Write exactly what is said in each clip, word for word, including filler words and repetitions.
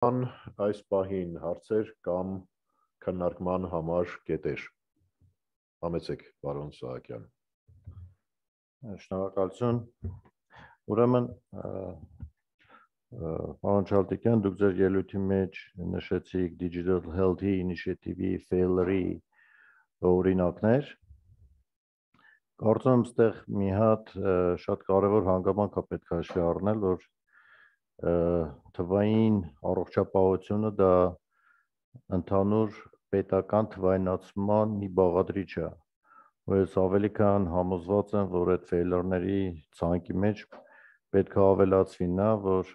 Այս պահին հարցեր կամ քննարկման համար կետեր։ Համեցեք, պարոն Սահակյան։ Շնորհակալություն։ Ուրեմն, պարոն Չալթիկյան, դուք ձեր ելույթի մեջ նշեցիք Digital Health-ի ինիշիատիվի failure-ի օրինակներ։ Կարծում եմ, այստեղ մի հատ շատ կարևոր հանգամանք է պետք է հաշվի առնել, որ թվային առողջապահությունը դա ընդհանուր պետական թվայնացման մի բաղադրիչ է, որ ես ավելի քան համոզված եմ, որ այդ ֆեյլերների ցանկի մեջ պետք է ավելացվի նա, որ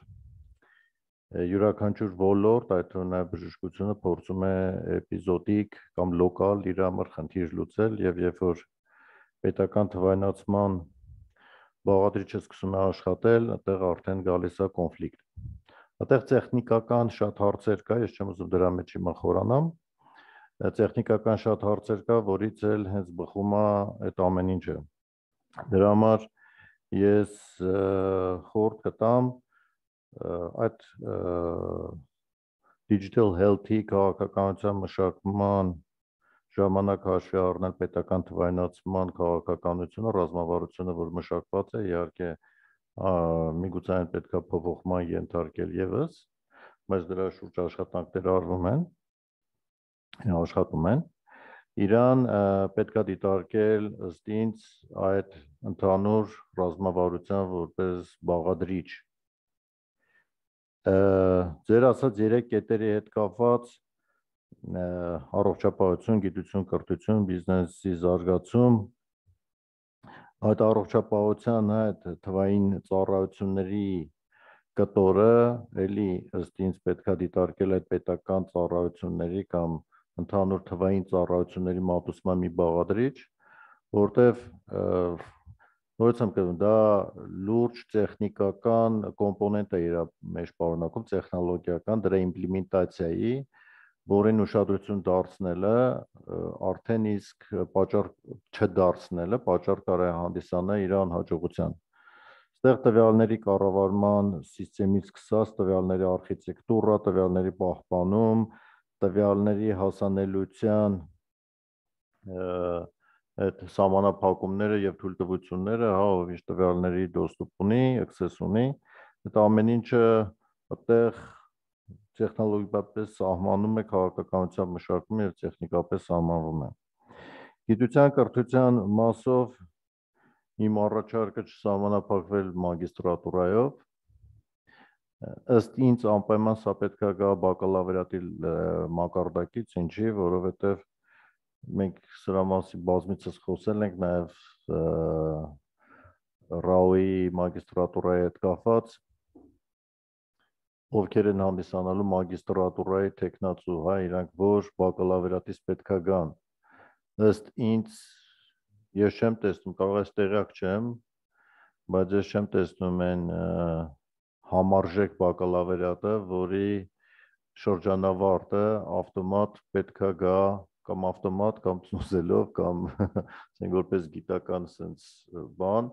յուրաքանչյուր ոլորտ, այդ թվում նաև բժշկությունը փորձում է էպիզոդիկ կամ լոկալ իր համար խնդիր լուծել, եւ երբ որ պետական թվայնացման բաղադրիչը սկսում է աշխատել, այդտեղ արդեն գալիս է կոնֆլիկտ։ Այդտեղ տեխնիկական շատ հարցեր կա, ես չեմ ուզում դրա մեջ հիմա խորանամ, տեխնիկական շատ հարցեր կա, որից էլ հենց բխում է այդ ամեն ինչը։ Դրա համար ես խորհուրդ կտամ այդ Digital Health-ի քաղաքականության մշակման ժամանակ հաշվի առնել պետական թվայնացման քաղաքականությունը, ռազմավարությունը, որ մշակված է, իհարկե միգուցե այն պետք է փոփոխման ենթարկել եւս, բայց դրա շուրջ աշխատանքներ արվում են, աշխատում են։ Իրան պետք է դիտարկել ըստ ինձ այդ ընդհանուր ռազմավարության որպես բաղադրիչ։ Ձեր ասած երեք կետերի հետ կապված առողջապահություն, գիտություն, կրթություն, բիզնեսի զարգացում, այդ առողջապահության այդ թվային ծառայությունների կտորը էլի ըստ ինձ պետք է դիտարկել այդ պետական ծառայությունների կամ ընդհանուր թվային ծառայությունների մատուցման մի բաղադրիչ, որտեվ նորից եմ կրում, դա լուրջ տեխնիկական կոմպոնենտ է իր մեջ պարունակում, տեխնոլոգիական, դրա իմպլեմենտացիայի, որին ուշադրություն դարձնելը արդեն իսկ պատճառ չդարձնելը պատճառ կարող է հանդիսանալ իր անհաջողության։ Այստեղ տվյալների կառավարման սիստեմից սկսած տվյալների արխիտեկտուրա, տվյալների պահպանում, տվյալների հասանելիության այդ սահմանափակումները եւ թույլտվությունները, հա, ով ինչ տվյալների դոստուպ ունի, access ունի, այդ ամեն ինչը այդտեղ տեխնոլոգիապես սահմանում է քաղաքականության մշակումը եւ տեխնիկապես սահմանվում է։ Գիտության կրթության մասով իմ առաջարկը չսահմանափակվել մագիստրատուրայով, ըստ ինձ անպայման սա պետք է գա բակալավրիատի մակարդակից, ինչի, որովհետեւ մենք սրա մասին բազմիցս խոսել ենք նաեւ ՌԱՕ-ի մագիստրատուրայի հետ կապված, ովքեր են հանդիսանալու մագիստրատուրայի տեխնացու, հա, իրանք որ բակալավրիատից պետք է գան։ Ըստ ինձ ես չեմ տեսնում, կարող է տեղյակ չեմ, բայց ես չեմ տեսնում այն համարժեք բակալավրիատը, որի շրջանավարտը ավտոմատ պետք է գա կամ ավտոմատ կամ ծուզելով կամ ասենք որպես գիտական sense բան,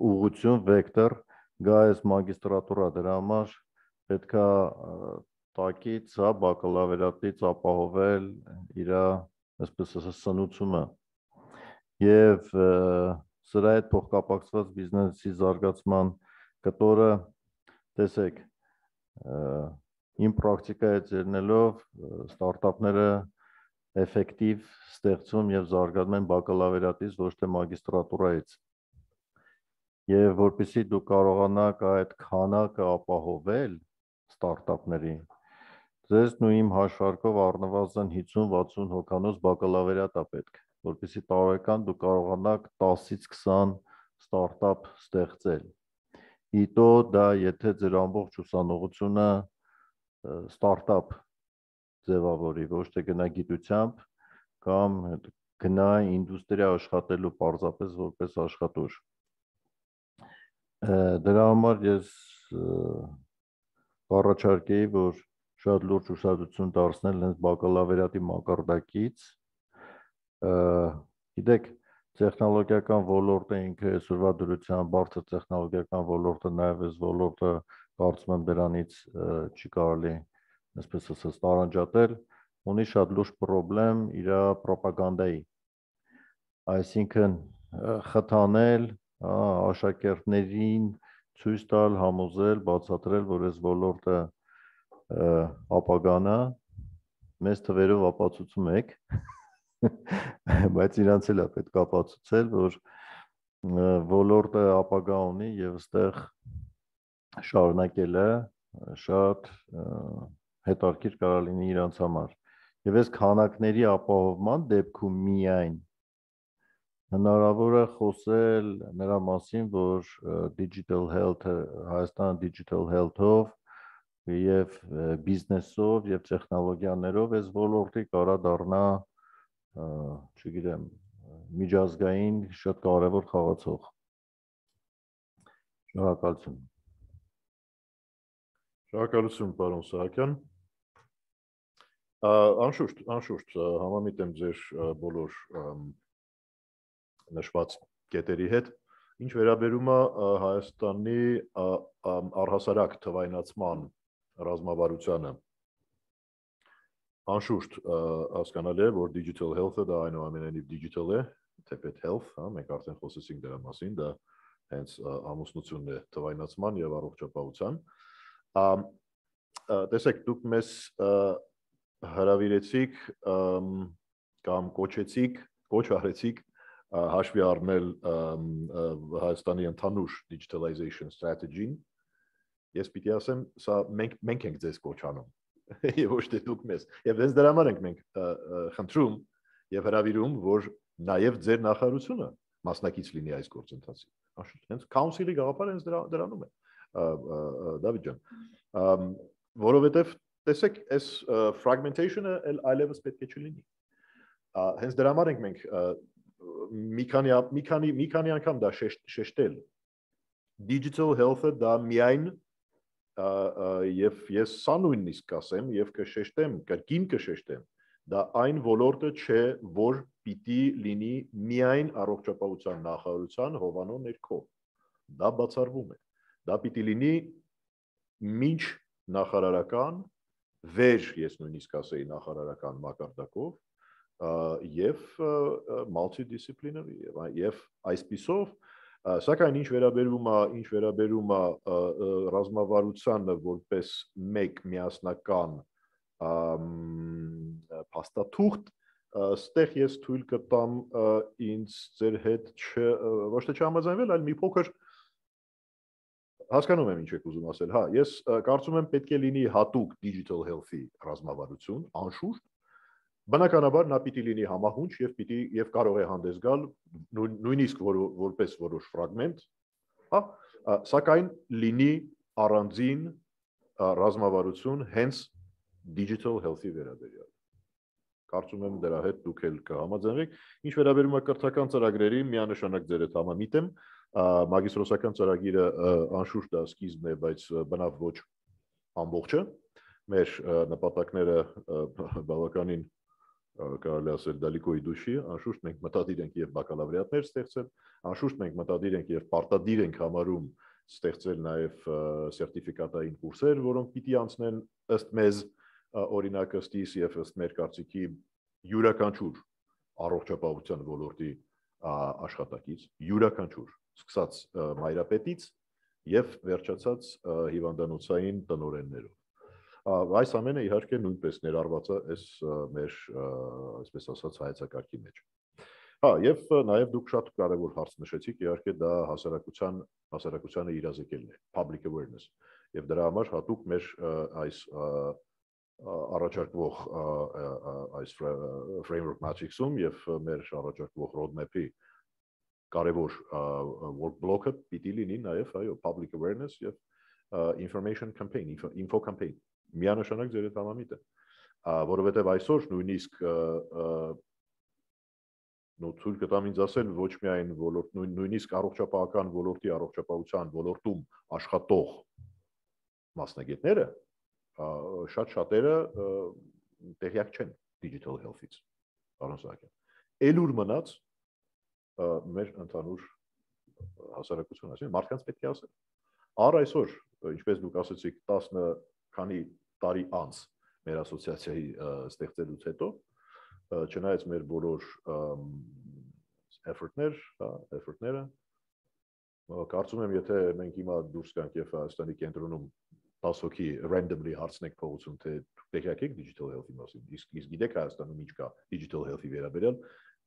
ուղղություն, վեկտոր գա այս մագիստրատուրա, դրա համար պետք է տակից, հա, բակալավրիատից ապահովել իր, այսպես ասած, սնուցումը։ Եվ սրա հետ փոխկապակցված բիզնեսի զարգացման կտորը, տեսեք, իմ պրակտիկայից ելնելով ստարտափները էֆեկտիվ ստեղծում եւ զարգանում են բակալավրիատից, ոչ թե մագիստրատուրայից։ Եվ որպեսզի դուք կարողանաք այդ քանակը ապահովել ստարտափների, ձեզ ու իմ հաշվարկով առնվազն հինգ-վաթսուն հոգանոց բակալավրիատ է պետք, որպեսզի տարեկան դուք կարողանաք տասից քսան ստարտափ ստեղծել։ Իտո դա եթե ձեր ամբողջ ուսանողությունը ստարտափ ձևավորի, ոչ թե գնա գիտությամբ կամ գնա ինդուստրիա աշխատելու պարզապես որպես աշխատուժ։ Դրա համար ես կառաջարկեի, որ շատ լուրջ ուշադրություն դարձնել հենց բակալավրիատի մակարդակից, գիտեք, տեխնոլոգիական ոլորտը ինքը այսօրվա դրությամբ բարձր տեխնոլոգիական ոլորտը նաև այս ոլորտը կարծում եմ դրանից չի կարելի այսպես ասած տարանջատել, ունի շատ լուրջ խնդրեմ իր ռոպագանդայի, այսինքն խթանել աշակերտներին, ցույց տալ, համոզել, բացատրել, որ այս ոլորտը ապագան է, մեծ թվերով ապացուցում եք, բայց իրանց էլ է պետք է ապացուցել, որ ոլորտը ապագա ունի եւ այստեղ շարունակելը շատ հետաքրքիր կարող լինի իրանց համար։ Եվ այս քանակների ապահովման դեպքում միայն հնարավոր է խոսել նրա մասին, որ digital health-ը Հայաստանը digital health-ով եւ բիզնեսով եւ տեխնոլոգիաներով այս ոլորտի կարա դառնա, չգիտեմ, միջազգային շատ կարևոր խաղացող։ Շնորհակալություն։ Շնորհակալություն, պարոն Սահակյան։ Անշուշտ, անշուշտ համամիտ եմ ձեր բոլոր նշված կետերի հետ, ինչ վերաբերում է Հայաստանի առհասարակ թվայնացման ռազմավարությանը, անշուշտ հասկանալի է, որ digital health-ը դա այնուամենայնիվ digital է, թեպետ health, մենք արդեն խոսեցինք դրա մասին, դա հենց ամուսնությունն է թվայնացման եւ առողջապահության։ Տեսեք, դուք մեզ հրավիրեցիք կամ կոչեցիք, կոչ արեցիք հաշվի առնել Հայաստանի ընդհանուր digitalization strategy-ն։ Ես պիտի ասեմ, սա մենք մենք ենք ձեզ կոչ անում, եւ ոչ թե դուք մեզ։ Եվ հենց դրա համար ենք մենք խնդրում եւ հրավիրում, որ նաեւ ձեր նախարարությունը մասնակից լինի այս գործընթացի։ Անշուշտ, հենց council-ի գաղափարը հենց դրա դրանում է, Դավիթ ջան, որովհետեւ տեսեք, այս fragmentation-ը այլևս պետք է չլինի։ Հենց դրա համար ենք մենք մի քանի մի քանի մի քանի անգամ դա շեշտել։ Digital health-ը դա միայն եւ ես սա նույնիսկ կասեմ եւ կշեշտեմ, կրկին կշեշտեմ, դա այն ոլորտը չէ, որ պիտի լինի միայն առողջապահության նախարարության հովանու ներքո։ Դա բացառվում է։ Դա պիտի լինի մինչ նախարարական, վեր ես նույնիսկ ասեի նախարարական մակարդակով եւ multidisciplinary եւ այսպիսով, սակայն ինչ վերաբերում է ինչ վերաբերում է ռազմավարությանը որպես մեկ միասնական փաստաթուղթ, ստեղ ես թույլ կտամ ինձ ձեր հետ ոչ թե չհամաձայնվել, այլ մի փոքր հասկանում եմ ինչ եք ուզում ասել։ Հա, ես կարծում եմ պետք է լինի հատուկ digital health-ի ռազմավարություն, անշուշտ, բնականաբար նա պիտի լինի համահունչ եւ պիտի եւ կարող է հանդես գալ նույնիսկ որպես որոշ ֆրագմենտ, հա, սակայն լինի առանձին ռազմավարություն հենց digital health-ի վերաբերյալ։ Կարծում եմ դրա հետ դուք էլ կհամաձայնեք։ Ինչ վերաբերում է կրթական ծրագրերի, միանշանակ ձեր հետ համամիտ եմ, մագիստրոսական ծրագիրը անշուշտ դա սկիզբն է, բայց բնավ ոչ ամբողջը։ Մեր նպատակները բավականին կարելի ասել դալիկոյի դուշի, անշուշտ մենք մտադիր ենք եւ բակալավրիատներ ստեղծել, անշուշտ մենք մտադիր ենք եւ պարտադիր ենք համարում ստեղծել նաեւ սերտիֆիկատային կուրսեր, որոնք պիտի անցնեն ըստ մեզ օրինակ ըստ իս եւ ըստ մեր կարծիքի յուրաքանչյուր առողջապահության ոլորտի աշխատակից, յուրաքանչյուր, սկսած մայրապետից եւ վերջացած հիվանդանոցային տնօրեններով։ Այս ամենը իհարկե նույնպես ներառված է այս մեր այսպես ասած հայեցակարգի մեջ։ Հա, եւ նաեւ դուք շատ կարեւոր հարց նշեցիք, իհարկե դա հասարակության հասարակությանը իրազեկելն է, public awareness։ Եվ դրա համար հատուկ մեր այս առաջարկվող այս framework matrix-ում եւ մեր առաջարկվող roadmap-ի կարևոր work block-ը պիտի լինի նաեւ այո public awareness եւ information campaign, info campaign։ Միանշանակ ձեր հետ համամիտ է, որովհետև այսօր նույնիսկ նո ցույց կտամ ինձ ասել ոչ միայն ոլորտ նույնիսկ առողջապահական ոլորտի առողջապահության ոլորտում աշխատող մասնագետները շատ շատերը տեղյակ չեն digital health-ից, պարոն Սահակյան։ Էլուր մնաց մեր ընդհանուր հասարակություն, այսինքն մարդկանց պետք է ասել։ Առ այսօր ինչպես դուք ասացիք, տասը քանի տարի անց մեր ասոցիացիայի ստեղծելուց հետո, չնայած մեր բոլոր effort-ներ, effort-ները, կարծում եմ, եթե մենք հիմա դուրս գանք եւ Հայաստանի կենտրոնում տասը հոգի randomly հարցնենք փողոցում, թե դուք տեղյակ եք digital health-ի մասին, իսկ իսկ գիտեք Հայաստանում ինչ կա digital health-ի վերաբերյալ,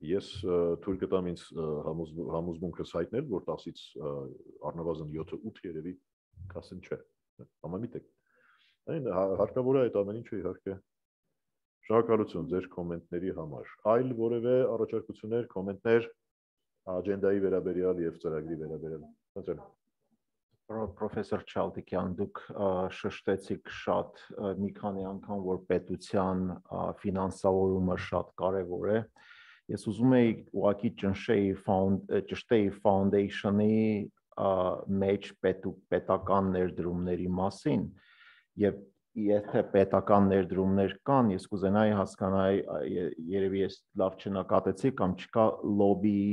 ես թույլ կտամ ինձ համոզմունքս հայտնել, որ տասից առնվազն յոթը ութ երևի կասեն չէ, համամիտեք։ Այն հարկավոր է այդ ամեն ինչը իհարկե։ Շնորհակալություն ձեր կոմենտների համար։ Այլ որևէ առաջարկություններ, կոմենտներ աջենդայի վերաբերյալ եւ ծրագրի վերաբերյալ։ Խնդրեմ։ Պրոֆեսոր Չալտիկյան, դուք շշտեցիք շատ մի քանի անգամ, որ պետության ֆինանսավորումը շատ կարևոր է։ Ես ուզում եի ուղղակի ճնշեի ճշտեի foundation-ի մեջ պետական ներդրումների մասին եւ եթե պետական ներդրումներ կան, ես կուզենայի հասկանալ, երևի ես լավ չնկատեցի կամ չկա լոբի,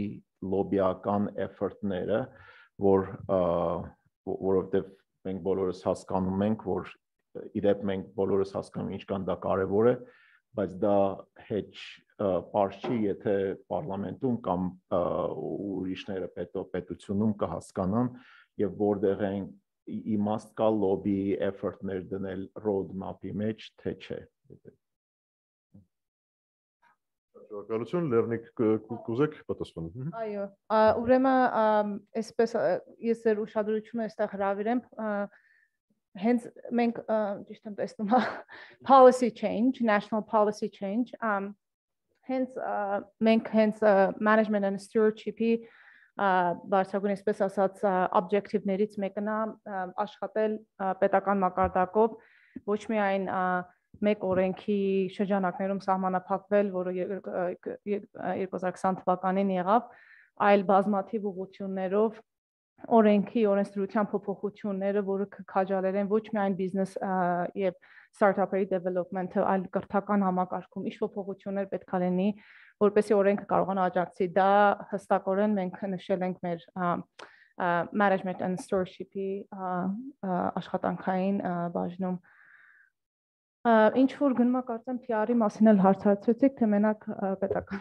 լոբիական effort-ները, որ որովհետև մենք բոլորս հասկանում ենք, որ իդեպ մենք բոլորս հասկանում ենք ինչքան դա կարևոր է, բայց դա հեչ պարզ չի, եթե պարլամենտում կամ ուրիշները պետությունում կհասկանան եւ որտեղ են իմաստ կա լոբի effort-ներ դնել road map-ի մեջ, թե չէ։ Շնորհակալություն, Լեռնիկ կուզեք պատասխանել։ Այո, ուրեմն այսպես ես ձեր ուշադրությունը այստեղ հրավիրեմ, հենց մենք ճիշտ եմ տեսնում policy change, national policy change, հենց մենք հենց management and stewardship-ի բարձրագույն այսպես ասած objective-ներից մեկն է աշխատել պետական մակարդակով ոչ միայն մեկ օրենքի շրջանակներում սահմանափակվել, որը երկու հազար քսան թվականին եղավ, այլ բազմաթիվ ուղղություններով օրենքի օրենսդրության փոփոխությունները, որը կքաջալերեն ոչ միայն բիզնես եւ ստարտափերի development-ը, այլ կրթական համակարգում ինչ փոփոխություններ պետք է լինի, որպեսզի օրենքը կարողանա աջակցի։ Դա հստակորեն մենք նշել ենք մեր management and stewardship-ի աշխատանքային բաժնում։ Ինչ որ գնում է կարծեմ P R-ի մասին էլ հարցրեցիք, թե մենակ պետական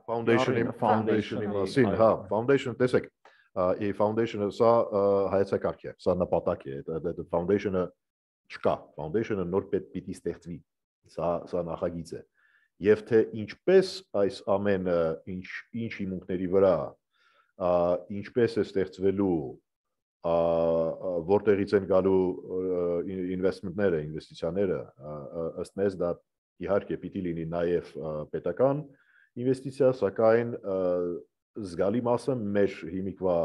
Foundation-ի foundation-ի մասին, հա, foundation տեսեք, ի foundation-ը սա հայեցակարգ է, սա նպատակ է, այդ foundation-ը չկա, foundation-ը նոր պիտի ստեղծվի, սա սա նախագիծ է։ Եվ թե ինչպես այս ամենը ինչ ինչ հիմունքների վրա, ինչպես է ստեղծվելու, որտեղից են գալու ինվեստմենտները, ինվեստիցիաները, ըստ մեզ դա իհարկե պիտի լինի նաև պետական ինվեստիցիա, սակայն զգալի մասը մեր հիմիկվա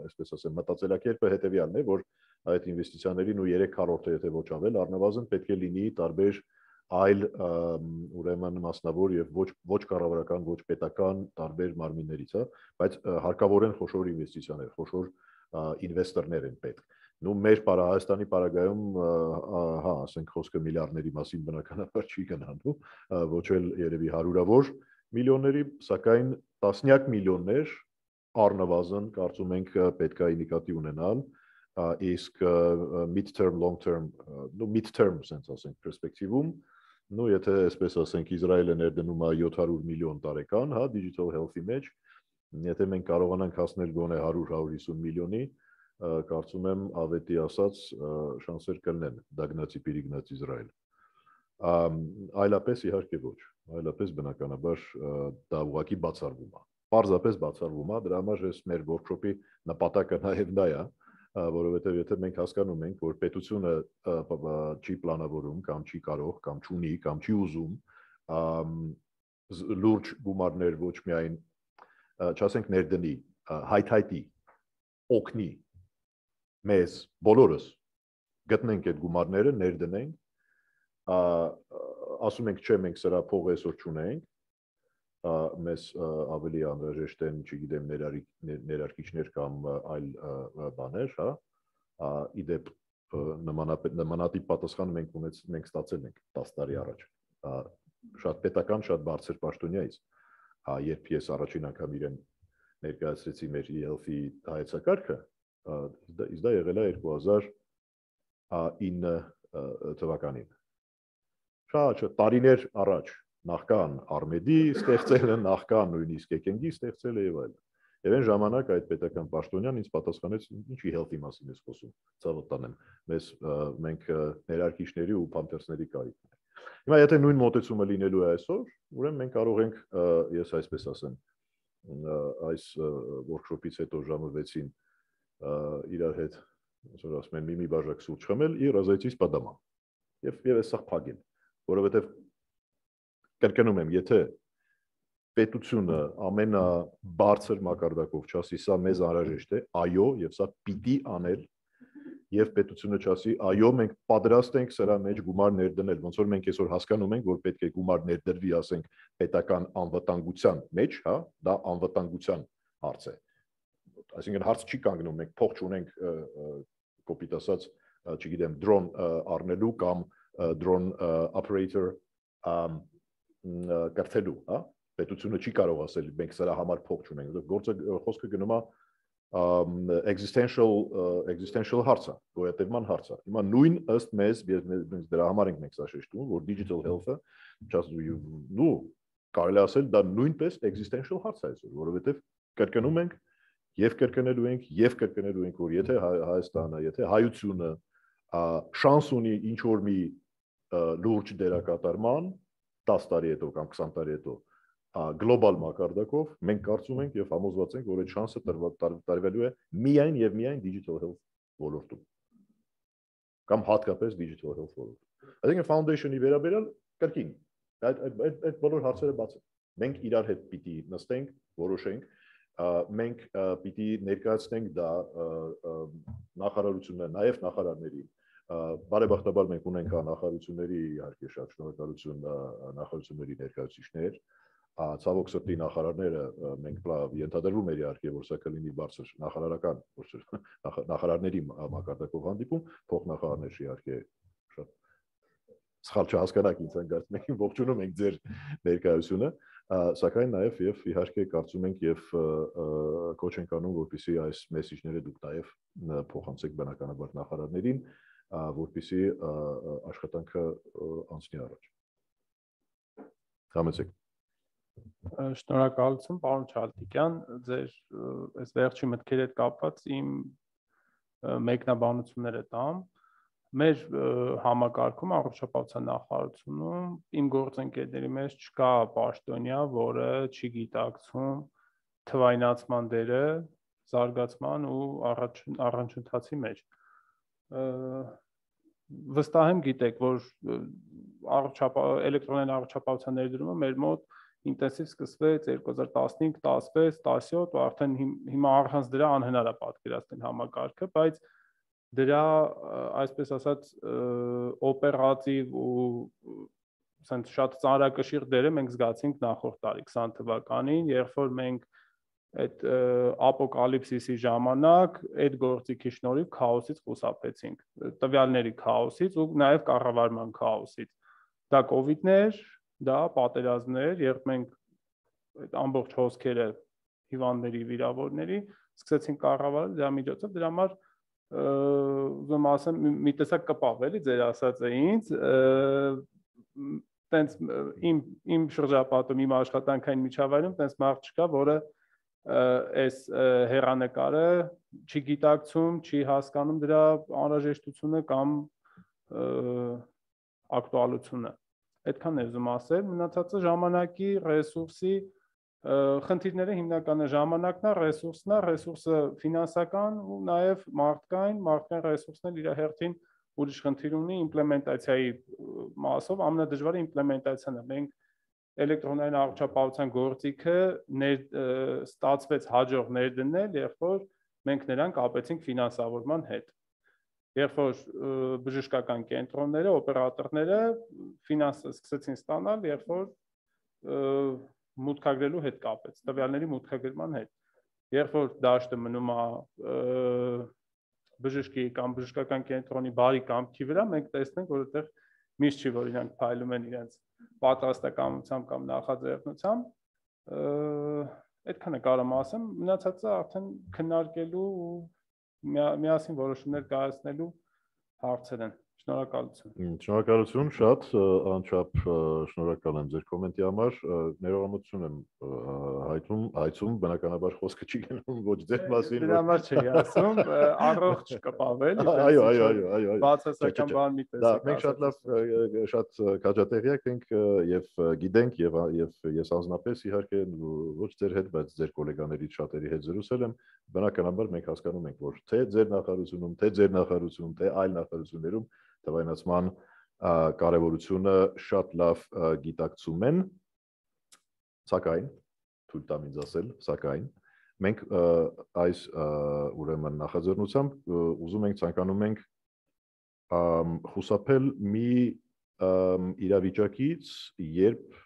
այսպես ասեմ մտածելակերպը հետևյալն է, որ այդ ինվեստիցիաներին ու երեք քառորդը եթե ոչ ավել առնվազն պետք է լինի տարբեր այլ ուրեմն մասնավոր եւ ոչ ոչ կառավարական, ոչ պետական տարբեր մարմիններից, հա, բայց հարկավորեն խոշոր ինվեստիցիաներ, խոշոր ինվեստորներ են պետք։ Նու մեր պարա Հայաստանի պարագայում, հա, ասենք խոսքը միլիարդների մասին բնականաբար չի գնալու, ոչ էլ երևի հարյուրավոր միլիոնների, սակայն տասնյակ միլիոններ առնվազն կարծում ենք պետք է նկատի ունենալ, իսկ mid-term, long-term, նո mid-term sense ասենք պերսպեկտիվում, նո եթե այսպես ասենք Իսրայելը ներդնում է յոթ հարյուր միլիոն տարեկան, հա, digital health-ի մեջ, եթե մենք կարողանանք հասնել գոնե հարյուր հարյուր հիսուն միլիոնի, կարծում եմ ավետի ասած շանսեր կլինեն դագնացի պիրիգնաց Իսրայել։ Այլապես իհարկե ոչ, այլապես բնականաբար դա ուղղակի բացառվում է։ Պարզապես բացառվում է, դրա համար ես մեր workshop-ի նպատակը նաև դա է, որովհետև եթե մենք հասկանում ենք, որ պետությունը չի պլանավորում կամ չի կարող կամ չունի կամ չի ուզում լուրջ գումարներ ոչ միայն չասենք ներդնի, հայթայթի, օգնի մեզ բոլորս գտնենք այդ գումարները, ներդնենք, ասում ենք չէ, մենք սրա փողը այսօր չունենք, մեզ ավելի անհրաժեշտ են, չգիտեմ, ներարկիչներ կամ այլ բաներ, հա, իդեպ նմանատիպ պատասխան մենք մենք ստացել ենք տասը տարի առաջ, շատ պետական, շատ բարձր պաշտոնյայից, երբ ես առաջին անգամ իրեն ներկայացրեցի մեր e-health-ի հայեցակարգը, Իսկ դա եղել է երկու հազար ինը թվականին։ Շատ տարիներ առաջ նախքան Արմեդի ստեղծելը, նախքան նույնիսկ Էկենգի ստեղծելը եւ այլն։ Եվ այն ժամանակ այդ պետական պաշտոնյան ինձ պատասխանեց ինչի health-ի մասին ես խոսում, ցավոտ տանեմ, մեզ մենք ներարկիչների ու փամփերսների կարիքն է։ Հիմա եթե նույն մոտեցումը լինելու է այսօր, ուրեմն մենք կարող ենք, ես այսպես ասեմ, այս workshop-ից հետո ժամը վեցին իրար հետ, այսօր ասում են մի-մի բաժակ սուրճ խմել и разойтись по домам։ Եվ եւ այսա փագել, որովհետեւ կրկնում եմ, եթե պետությունը ամենաբարձր մակարդակով չասի սա մեզ անհրաժեշտ է, այո, եւ սա պիտի անել, եւ պետությունը չասի այո, մենք պատրաստ ենք սրա մեջ գումար ներդնել, ոնց որ մենք այսօր հասկանում ենք, որ պետք է գումար ներդրվի, ասենք, պետական անվտանգության մեջ, հա, դա անվտանգության հարց է։ Այսինքն հարց չի կանգնում, մենք փող չունենք, կոպիտ ասած, չգիտեմ, drone առնելու կամ drone operator կրթելու, հա, պետությունը չի կարող ասել մենք սրա համար փող չունենք, գործը խոսքը գնում է existential existential հարցը, գոյատևման հարցը։ Հիմա նույն ըստ մեզ, մենք դրա համար ենք մենք սա շեշտում, որ digital health-ը, նու կարելի ասել դա նույնպես existential հարց է այսօր, որովհետև կրկնում ենք եւ կրկնելու ենք եւ կրկնելու ենք, որ եթե Հայաստանը, եթե հայությունը շանս ունի ինչ որ մի լուրջ դերակատարման դաս տարի հետո կամ քսան տարի հետո գլոբալ մակարդակով մենք կարծում ենք եւ համոզված ենք, որ այդ շանսը տրվելու է միայն եւ միայն digital health ոլորտում կամ հատկապես digital health ոլորտում։ Այսինքն foundation-ի վերաբերյալ կրկին այդ այդ այդ բոլոր հարցերը բաց են։ Մենք իրար հետ պիտի նստենք, որոշենք, մենք պիտի ներկայացնենք դա նախարարությունները, նաեւ նախարարներին։ Բարեբախտաբար մենք ունենք նախարարությունների իհարկե շատ շնորհակալություն նախարարությունների ներկայացուցիչներ, ցավոք սրտի նախարարները մենք ենթադրվում էր իհարկե որ սա կլինի բարձր նախարարական նախարարների մակարդակով հանդիպում, փոխնախարարներ իհարկե շատ սխալ չհասկանաք ինձ հանգարցում ենք ողջունում ենք ձեր ներկայությունը, սակայն նաև եւ իհարկե կարծում ենք եւ կոչ ենք անում որպեսզի այս մեսեջները դուք նաև փոխանցեք բնականաբար նախարարներին, որպեսզի աշխատանքը անցնի առաջ։ Համեցեք։ Շնորհակալություն, պարոն Չալթիկյան, ձեր այս վերջի մտքերի հետ կապված իմ մեկնաբանությունները տամ։ Մեր համակարգում առողջապահության նախարարությունում իմ գործընկերների մեջ չկա պաշտոնյա, որը չի գիտակցում թվայնացման դերը զարգացման ու առաջընթացի մեջ։ Վստահ եմ գիտեք, որ էլեկտրոնային առողջապահության ներդրումը մեր մոտ ինտենսիվ սկսվեց երկու հազար տասնհինգ տասվեց տասյոթ ու արդեն հիմա առանց դրա անհնար է պատկերացնել համակարգը, բայց դրա այսպես ասած օպերատիվ ու ասենք շատ ծանրակշիռ դերը մենք զգացինք նախորդ տարի քսան թվականին, երբ որ մենք այդ ապոկալիպսիսի ժամանակ այդ գործիքի շնորհիվ քաոսից խուսափեցինք, տվյալների քաոսից ու նաև կառավարման քաոսից։ Դա կովիդներ, դա պատերազմներ, երբ մենք այդ ամբողջ հոսքերը հիվանդների, վիրավորների սկսեցինք կառավարել դրա միջոցով, դրա համար ուզում ասեմ մի տեսակ կպավ էլի ձեր ասածը ինձ, տենց իմ իմ շրջապատում, իմ աշխատանքային միջավայրում տենց մարդ չկա, որը այս հեռանկարը չի գիտակցում, չի հասկանում դրա անհրաժեշտությունը կամ ակտուալությունը։ Այդքան եմ ուզում ասել, մնացածը ժամանակի, ռեսուրսի խնդիրները հիմնականը ժամանակն է, ռեսուրսն է, ռեսուրսը ֆինանսական ու նաև մարդկային, մարդկային ռեսուրսն էլ իր հերթին ուրիշ խնդիր ունի իմպլեմենտացիայի մասով, ամենադժվարը իմպլեմենտացիան է։ Մենք էլեկտրոնային առողջապահության գործիքը ստացվեց հաջող ներդնել, երբ որ մենք նրան կապեցինք ֆինանսավորման հետ։ Երբ որ բժշկական կենտրոնները, օպերատորները ֆինանսը սկսեցին ստանալ, երբ որ մուտքագրելու հետ կապեց, տվյալների մուտքագրման հետ։ Երբ որ դաշտը մնում է բժշկի կամ բժշկական կենտրոնի բարի կամքի վրա, մենք տեսնենք, որ այդտեղ միշտ չի, որ իրանք փայլում են իրենց պատրաստակամությամբ կամ նախաձեռնությամբ, այդքանը կարող եմ ասեմ, մնացածը արդեն քննարկելու ու միասին որոշումներ կայացնելու հարցեր են։ Շնորհակալություն։ Շնորհակալություն, շատ անչափ շնորհակալ եմ ձեր կոմենտի համար, ներողամտություն եմ հայտում, հայցում, բնականաբար խոսքը չի գնում ոչ ձեր մասին, դրա համար չի ասում, առողջ կպավել, այո, այո, այո, այո, բացասական բան մի տեսակ։ Դա մենք շատ լավ, շատ քաջատեղյակ ենք եւ գիտենք եւ եւ ես անձնապես իհարկե ոչ ձեր հետ, բայց ձեր գոլեգաներից շատերի հետ զրուցել եմ, բնականաբար մենք հասկանում ենք, որ թե ձեր նախարարությունում, թե ձեր նախարարությունում, թե այլ նախարարություններում թվայնացման կարևորությունը շատ լավ գիտակցում են, սակայն թույլ տամ ինձ ասել, սակայն մենք այս ուրեմն նախաձեռնությամբ ուզում ենք ցանկանում ենք խուսափել մի իրավիճակից, երբ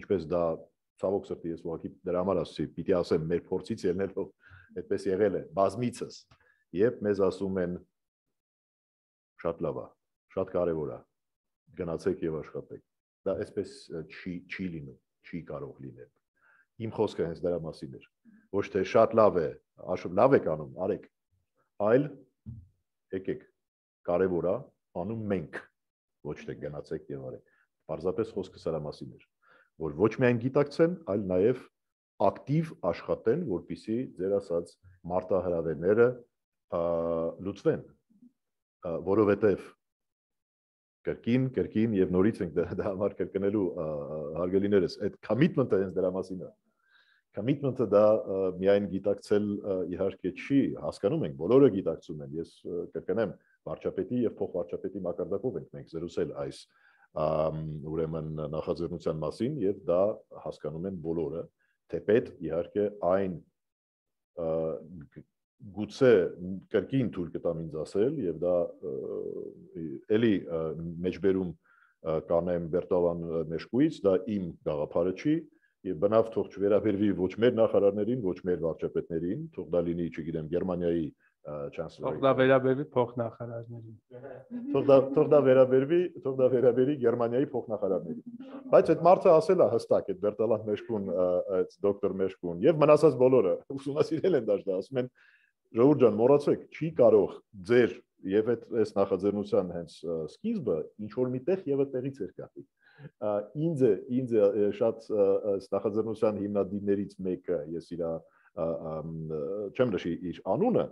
ինչպես դա ցավոք սրտի ես ուղղակի դրա համար ասացի, պիտի ասեմ մեր փորձից ելնելով այդպես եղել է բազմիցս, երբ մեզ ասում են շատ լավ է, շատ կարևոր է, գնացեք եւ աշխատեք։ Դա այսպես չի չի լինում, չի կարող լինել։ Իմ խոսքը հենց դրա մասին էր։ Ոչ թե շատ լավ է, աշուն լավ եք անում, արեք, այլ եկեք, կարևոր է, անում մենք, ոչ թե գնացեք եւ արեք։ Պարզապես խոսքը սրա մասին էր, որ ոչ միայն գիտակցեն, այլ նաեւ ակտիվ աշխատեն, որպեսզի ձեր ասած մարտահրավերները լուծվեն, որովհետեւ կրկին, կրկին եւ նորից ենք դա համար կրկնելու հարգելիներս, այդ commitment-ը հենց դրա մասին է։ Commitment-ը դա միայն գիտակցել իհարկե չի, հասկանում ենք, բոլորը գիտակցում են։ Ես կրկնեմ, վարչապետի եւ փոխվարչապետի մակարդակով ենք մենք զրուցել այս ուրեմն նախաձեռնության մասին եւ դա հասկանում են բոլորը, թեպետ իհարկե այն գուցե կրկին թույլ կտամ ինձ ասել եւ դա էլի մեջբերում կանեմ Բերտալան Մեշկուից, դա իմ գաղափարը չի եւ բնավ թող չվերաբերվի ոչ մեր նախարարներին, ոչ մեր վարչապետներին, թող դա լինի, չգիտեմ, Գերմանիայի chancellor-ին։ Թող դա վերաբերվի փոխնախարարներին։ Թող դա թող դա վերաբերվի, թող դա վերաբերի Գերմանիայի փոխնախարարներին։ Բայց այդ մարդը ասել է հստակ, այդ Բերտալան Մեշկուն, այդ դոկտոր Մեշկուն եւ մնացած բոլորը ուսումնասիրել են դա, ասում են Ժողովուրդ ջան, մոռացեք, չի կարող ձեր եւ այդ այս նախաձեռնության հենց սկիզբը ինչ որ միտեղ եւ այդտեղից էր կապի։ Ինձ է, ինձ է շատ այս նախաձեռնության հիմնադիրներից մեկը, ես իր չեմ նշի իր անունը,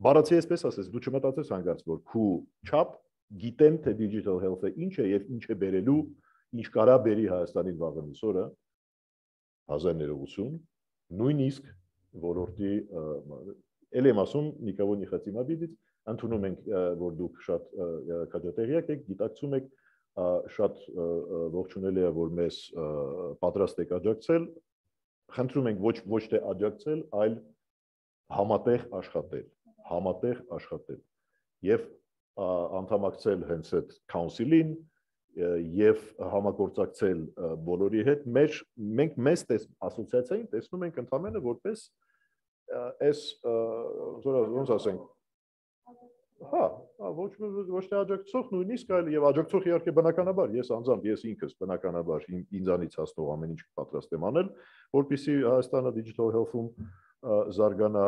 բառացի այսպես ասես, դու չմտածես հանգարց, որ քու չափ գիտեն թե digital health-ը ինչ է եւ ինչ է բերելու, ինչ կարա բերի Հայաստանին վաղեմի սորը, հազար ներողություն, նույնիսկ ոլորտի էլ եմ ասում նիկավոր նիխացիմաբիդից ընդունում ենք որ դուք շատ քաջատեղյակ եք, գիտակցում եք, շատ ողջունելի է որ մեզ պատրաստ եք աջակցել, խնդրում ենք ոչ ոչ թե աջակցել, այլ համատեղ աշխատել, համատեղ աշխատել եւ անդամակցել հենց այդ council-ին եւ համագործակցել բոլորի հետ, մեր մենք մեզ տես ասոցիացիային տեսնում ենք ընդհանրապես որպես այս ոնց ասենք հա ոչ ոչ թե աջակցող նույնիսկ այլ եւ աջակցող իհարկե բնականաբար ես անձամբ ես ինքս բնականաբար ինձանից հասնող ամեն ինչ պատրաստ եմ անել որպեսզի Հայաստանը digital health-ում զարգանա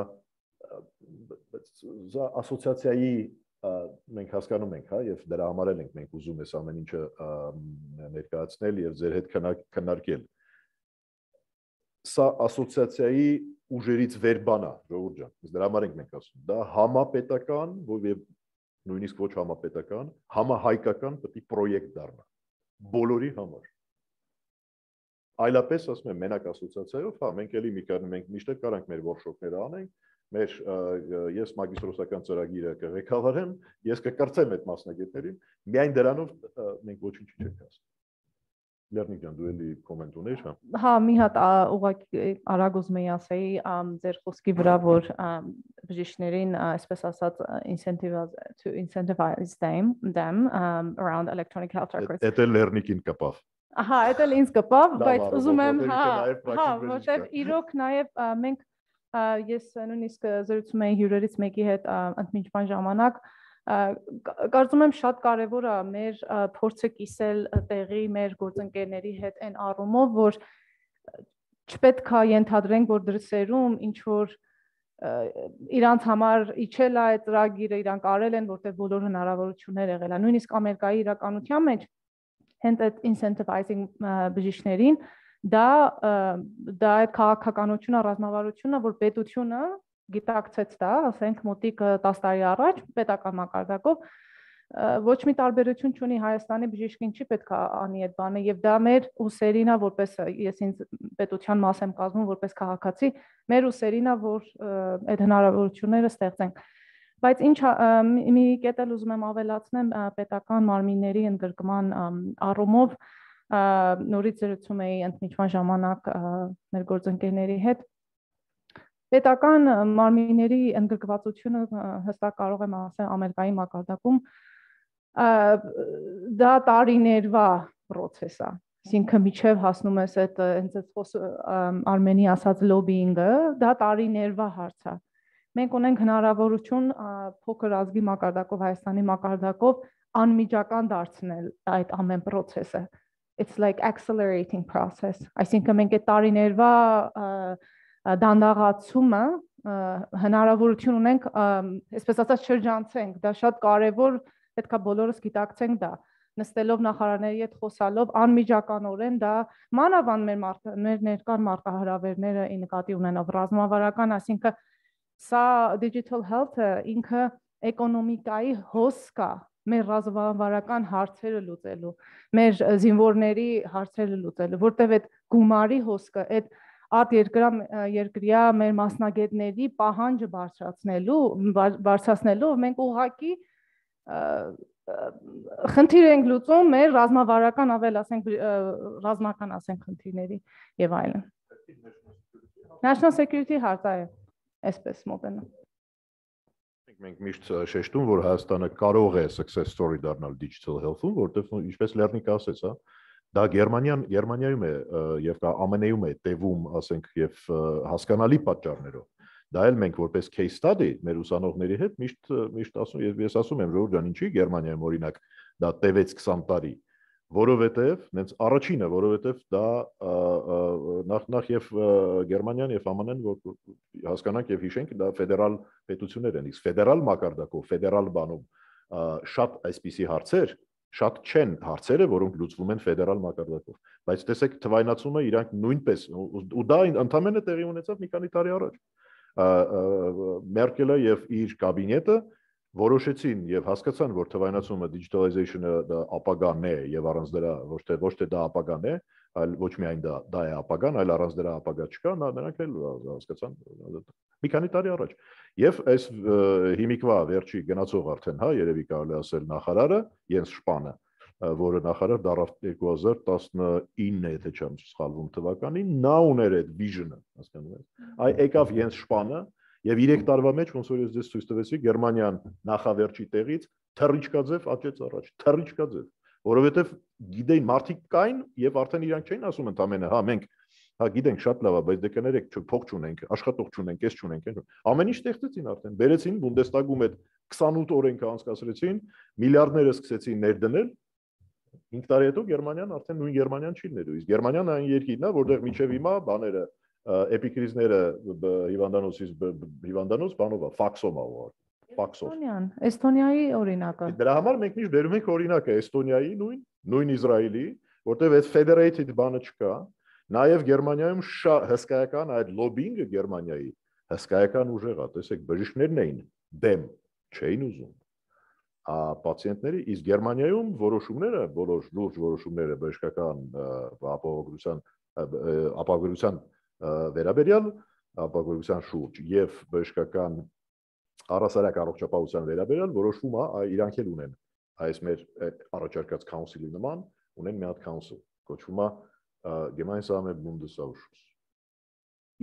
ասոցիացիայի մենք հասկանում ենք, հա, եւ դրա համար էլ ենք մենք ուզում ես ամեն ինչը ներկայացնել եւ ձեր հետ քննարկել։ Սա ասոցիացիայի ուժերից վեր բան է, ժողովուրդ ջան, դրա համար ենք մենք ասում։ Դա համապետական, եւ նույնիսկ ոչ համապետական, համահայկական պետք է պրոյեկտ դառնա բոլորի համար։ Այլապես ասում եմ մենակ ասոցիացիայով, հա, մենք էլի մի կան մենք միշտ կարանք մեր workshop-ները անենք, մեր ես մագիստրոսական ծրագիրը կղեկավարեմ, ես կկրծեմ այդ մասնագետներին, միայն դրանով մենք ոչինչ չենք ասում։ Լեռնիկ ջան, դու էլի կոմենտ ունեիր, հա։ Հա, մի հատ ուղղակի արագ ուզում եի ասեի, ձեր խոսքի վրա, որ բժիշկներին, այսպես ասած, incentivize to incentivize them them um, around electronic health records։ Դա էլ Լեռնիկին կպավ։ Ահա, դա էլ ինձ կպավ, բայց ուզում եմ, հա, հա, որտեղ իրոք նաև մենք ես նույնիսկ զրուցում էի հյուրերից մեկի հետ ընդմիջման ժամանակ կարծում եմ շատ կարևոր է մեր փորձը կիսել տեղի մեր գործընկերների հետ այն առումով որ չպետք է ենթադրենք որ դրսերում ինչ որ իրանց համար իջել է այդ ծրագիրը, իրանք արել են, որտեղ բոլոր հնարավորություններ եղել է։ Նույնիսկ Ամերիկայի իրականության մեջ հենց այդ incentivizing բժիշկներին դա դա այդ քաղաքականությունը, ռազմավարությունը, որ պետությունը գիտակցեց դա, ասենք մոտիկ տասը տարի առաջ պետական մակարդակով ոչ մի տարբերություն չունի Հայաստանի բժիշկին չի պետք է անի այդ բանը եւ դա մեր ուսերին է որպես ես ինձ պետության մաս եմ կազմում որպես քաղաքացի մեր ուսերին է որ այդ հնարավորությունները ստեղծենք բայց ինչ մի կետ էլ ուզում եմ ավելացնեմ պետական մարմինների ընդգրկման առումով նորից զրուցում էի ընդմիջման ժամանակ մեր գործընկերների հետ պետական մարմինների ընդգրկվածությունը հստակ կարող եմ ասել Ամերիկայի մակարդակում դա տարիներվա process է այսինքն միջև հասնում ես այդ հենց այդ Արմենի ասած լոբինգը դա տարիներվա հարց է մենք ունենք հնարավորություն փոքր ազգի մակարդակով Հայաստանի մակարդակով անմիջական դարձնել այդ ամեն process-ը it's like accelerating process այսինքն մենք այդ տարիներվա դանդաղացումը հնարավորություն ունենք այսպես ասած շրջանցենք դա շատ կարևոր պետքա բոլորս գիտակցենք դա նստելով նախարարների հետ խոսալով անմիջականորեն դա մանավանդ մեր մեր ներկան մարտահրավերները ի նկատի ունենով ռազմավարական այսինքն սա digital health-ը ինքը էկոնոմիկայի հոսք է մեր ռազմավարական հարցերը լուծելու մեր զինվորների հարցերը լուծելու որտեղ այդ գումարի հոսքը այդ ատ երկրա երկրյա մեր մասնագետների պահանջը բարձրացնելու բարձրացնելու մենք ուղղակի խնդիր ենք լուծում մեր ռազմավարական ավել ասենք ռազմական ասենք խնդիրների եւ այլն National security հարցը է այսպես մոտենա Մենք միշտ շեշտում որ Հայաստանը կարող է success story դառնալ digital health-ում որտեղ ինչպես Լեռնիկը ասեց հա դա Գերմանիան Գերմանիայում է եւ կա ԱՄՆ-ում է տևում ասենք եւ հասկանալի պատճառներով դա էլ մենք որպես case study մեր ուսանողների հետ միշտ միշտ ասում եւ ես ասում եմ որ ջան ինչի Գերմանիայում օրինակ դա տևեց քսան տարի որովհետեւ նենց առաջինը որովհետեւ դա նախ նախ եւ Գերմանիան եւ ԱՄՆ-ն որ հասկանանք եւ հիշենք դա ֆեդերալ պետություններ են իսկ ֆեդերալ մակարդակով ֆեդերալ բանում շատ այսպիսի հարցեր շատ չեն հարցերը որոնք լուծվում են ֆեդերալ մակարդակով բայց տեսեք թվայնացումը իրանք նույնպես ու դա ընդամենը տեղի ունեցավ մի քանի տարի առաջ Մերկելը եւ իր կաբինետը որոշեցին եւ հասկացան որ թվայնացումը digitalization-ը դա ապագան է եւ առանց դրա ոչ թե ոչ թե դա ապագան է այլ ոչ միայն դա դա է ապագան այլ առանց դրա ապագա չկա նրանք էլ հասկացան մի քանի տարի առաջ եւ այս հիմիկվա վերջի գնացող արդեն հա երևի կարելի ասել նախարարը Յենս Շպանը որը նախարար դարավ երկու հազար տասնինը եթե չեմ սխալվում թվականին նա ուներ այդ vision-ը հասկանում եք այ եկավ Յենս Շպանը եւ երեք տարվա մեջ ոնց որ ես ձեզ ցույց տվեցի Գերմանիան նախավերջի տեղից թռիչքաձև աճեց առաջ թռիչքաձև որովհետեւ գիտեին մարդիկ կային եւ արդեն իրանք չէին ասում ընդամենը հա մենք հա գիտենք շատ լավ է բայց դե կներեք փող չունենք աշխատող չունենք էս չունենք ամեն ինչ ստեղծեցին արդեն բերեցին Բունդեստագում այդ քսանութ օրենքը անցկացրեցին միլիարդները սկսեցին ներդնել հինգ տարի հետո Գերմանիան արդեն նույն Գերմանիան չի ներու իսկ Գերմանիան այն երկիրն է որտեղ միջև հիմա բաները էպիկրիզները հիվանդանոցից հիվանդանոց բանով է ֆաքսով է ֆաքսով Էստոնիան Էստոնիայի օրինակը դրա համար մենք միշտ բերում ենք օրինակը Էստոնիայի նույն նույն Իսրայելի որտեղ այդ federated բանը չկա նաև Գերմանիայում հսկայական այդ լոբինգը Գերմանիայի հսկայական ուժեղ է տեսեք բժիշկներն էին դեմ չէին ուզում ա պացիենտների իսկ Գերմանիայում որոշումները բոլոր լուրջ որոշումները բժշկական ապահովության ապահովության վերաբերյալ ապահովության շուրջ եւ բժշկական առասարակ առողջապահության վերաբերյալ որոշվում է իրանք էլ ունեն այս մեր առաջարկած council-ի նման ունեն մի հատ council կոչվում է Gemeinsame Bundesausschuss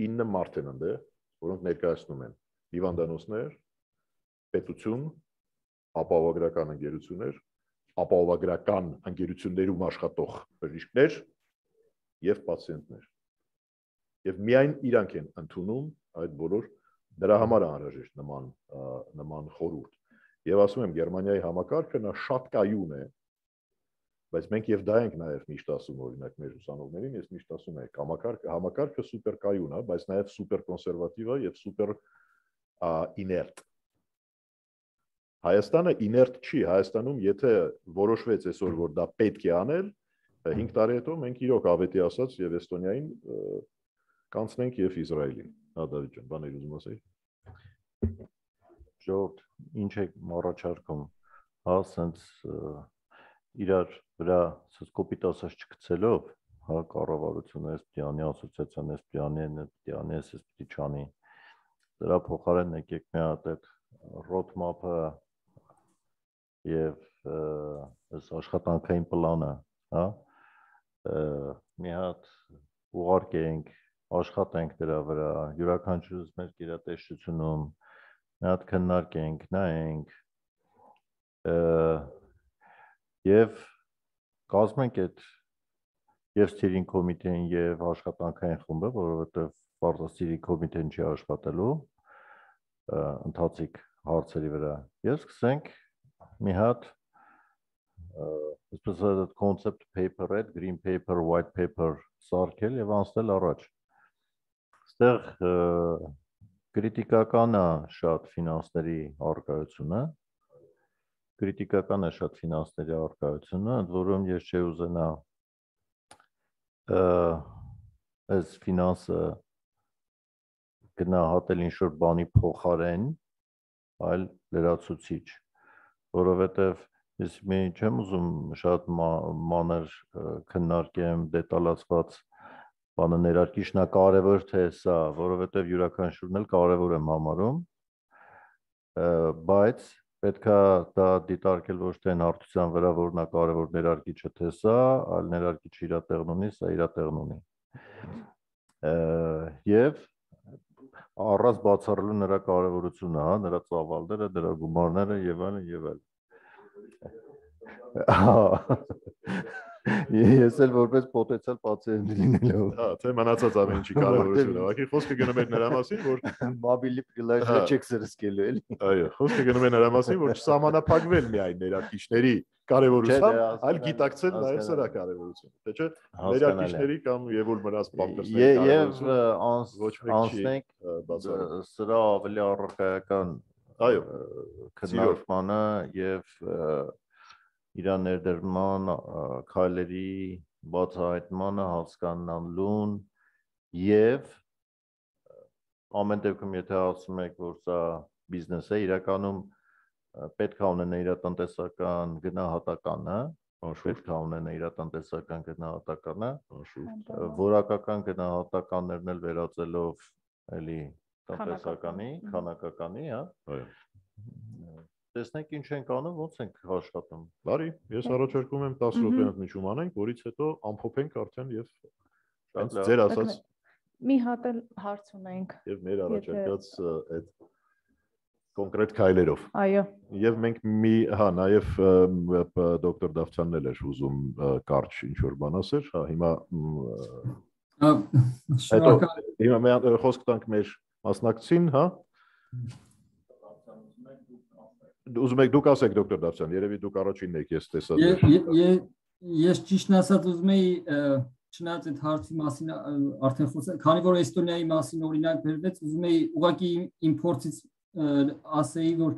ինը մարդ են այնտեղ որոնք ներկայացնում են հիվանդանոցներ պետություն ապահովագրական ընկերություններ ապահովագրական ընկերություններում աշխատող բժիշկներ եւ պացիենտներ եւ միայն իրանք են ընդունում այդ բոլոր դրա համար է անհրաժեշտ նման նման խորհուրդ եւ ասում եմ Գերմանիայի համակարգը նա շատ կայուն է բայց մենք եւ դա ենք նաեւ միշտ ասում օրինակ մեր ուսանողներին ես միշտ ասում եմ համակարգը համակարգը սուպեր կայուն է բայց նաեւ սուպեր կոնսերվատիվ է եւ սուպեր իներտ։ Հայաստանը իներտ չի, Հայաստանում եթե որոշվեց այսօր, որ դա պետք է անել, հինգ տարի հետո մենք իրոք ավետի ասած եւ Էստոնիային կանցնենք եւ Իսրայելին։ Հա Դավիթ ջան, բաներ ուզում ասեի։ Ժողովուրդ, ինչ է առաջարկում, հա, սենց իրար վրա սենց կոպիտ ասած չգցելով, հա, կառավարությունը էս պիտի ասոցիացիան էս պիտի անի, պիտի անի, էս պիտի չանի։ Դրա փոխարեն եկեք մի հատ այդ roadmap-ը եւ այս աշխատանքային պլանը, հա, մի հատ ուղարկենք, աշխատենք դրա վրա, յուրաքանչյուրս մեր գերատեսչությունում մի հատ քննարկենք, նայենք եւ կազմենք այդ եւ steering committee-ին եւ աշխատանքային խումբը, որովհետեւ բարձր steering committee-ն չի աշխատելու ընթացիկ հարցերի վրա։ Եվ սկսենք մի հատ այսպես այդ concept paper, այդ green paper, white paper սարքել եւ անցնել առաջ։ Այստեղ քրիտիկական է շատ ֆինանսների առկայությունը, քրիտիկական է շատ ֆինանսների առկայությունը, ընդ որում ես չի ուզենա այս ֆինանսը գնահատել ինչ-որ բանի փոխարեն, այլ լրացուցիչ, որովհետև ես մի չեմ ուզում շատ մանր քննարկեմ դետալացված բանը ներարկիչն է կարևոր թե սա, որովհետև յուրաքանչյուրն էլ կարևոր եմ համարում, բայց պետք է դա դիտարկել ոչ թե հարթության վրա, որ նա կարևոր ներարկիչը թե սա, այլ ներարկիչը իր տեղն ունի, սա իր տեղն ունի։ Եվ առանց բացառելու նրա կարևորությունը, հա, նրա ծավալները, նրա գումարները եւ այլն եւ այլն։ Ես էլ որպես պոտենցիալ պացիենտ լինելով։ Հա, թե մնացած ամեն ինչի կարևորությունը, ուղղակի խոսքը գնում է նրա մասին, որ մոբիլի պրիլաժը չեք սրսկելու էլի։ Այո, խոսքը գնում է նրա մասին, որ չսահմանափակվել միայն ներարկիչների կարևորությամբ, այլ գիտակցել նաև սրա կարևորությունը։ Թե չէ, ներարկիչների կամ եւուլ մնաց բամպերսների կարևորությունը։ Եվ անցնենք սրա ավելի առարկայական այո քննարկմանը եւ իր ներդրման քայլերի բացահայտմանը, հասկանալուն եւ ամեն դեպքում եթե ասում եք, որ սա բիզնես է, իրականում պետք է ունենա իր տնտեսական գնահատականը, պետք է ունենա իր տնտեսական գնահատականը, որակական գնահատականներն էլ վերածելով էլի տնտեսականի, քանակականի, հա։ Այո։ Տեսնենք ինչ ենք անում, ոնց ենք աշխատում։ Բարի, ես առաջարկում եմ տասը րոպեանոց միջում անենք, որից հետո ամփոփենք արդեն եւ հենց ձեր ասած մի հատ էլ հարց ունենք եւ մեր առաջարկած այդ կոնկրետ քայլերով։ Այո։ Եվ մենք մի, հա, նաեւ դոկտոր Դավթյանն էլ էր ուզում կարճ ինչ որ բան ասեր, հա, հիմա հետո հիմա մենք խոսք տանք մեր մասնակցին, հա։ Ուզում եք դուք ասեք դոկտոր Դավթյան, երևի դուք առաջինն եք ես տեսած։ Ես ճիշտն ասած ուզում եի չնայած այդ հարցի մասին արդեն խոսել, քանի որ Էստոնիայի մասին օրինակ բերվեց, ուզում եի ուղղակի իմ փորձից ասեի, որ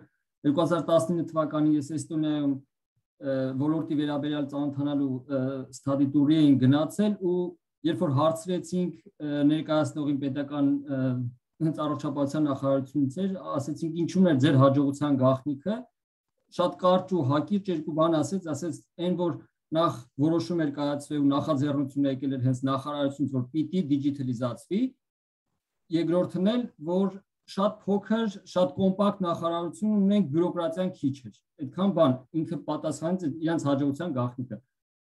երկու հազար տասնինը թվականին ես Էստոնիայում ոլորտի վերաբերյալ ծանոթանալու ստադի տուրի էին գնացել ու երբ որ հարցրեցինք ներկայացնողին պետական հենց առողջապահության նախարարությունից էր, ասեցինք ինչու՞ն է ձեր հաջողության գաղտնիքը, շատ կարճ ու հակիրճ երկու բան ասեց, ասեց այն որ նախ որոշում էր կայացվել ու նախաձեռնությունը եկել էր հենց նախարարությունից, որ պիտի դիջիտալիզացվի, երկրորդն էլ որ շատ փոքր, շատ կոմպակտ նախարարություն ունենք, բյուրոկրատիան քիչ էր։ Այդքան բան ինքը պատասխանեց իրենց հաջողության գաղտնիքը։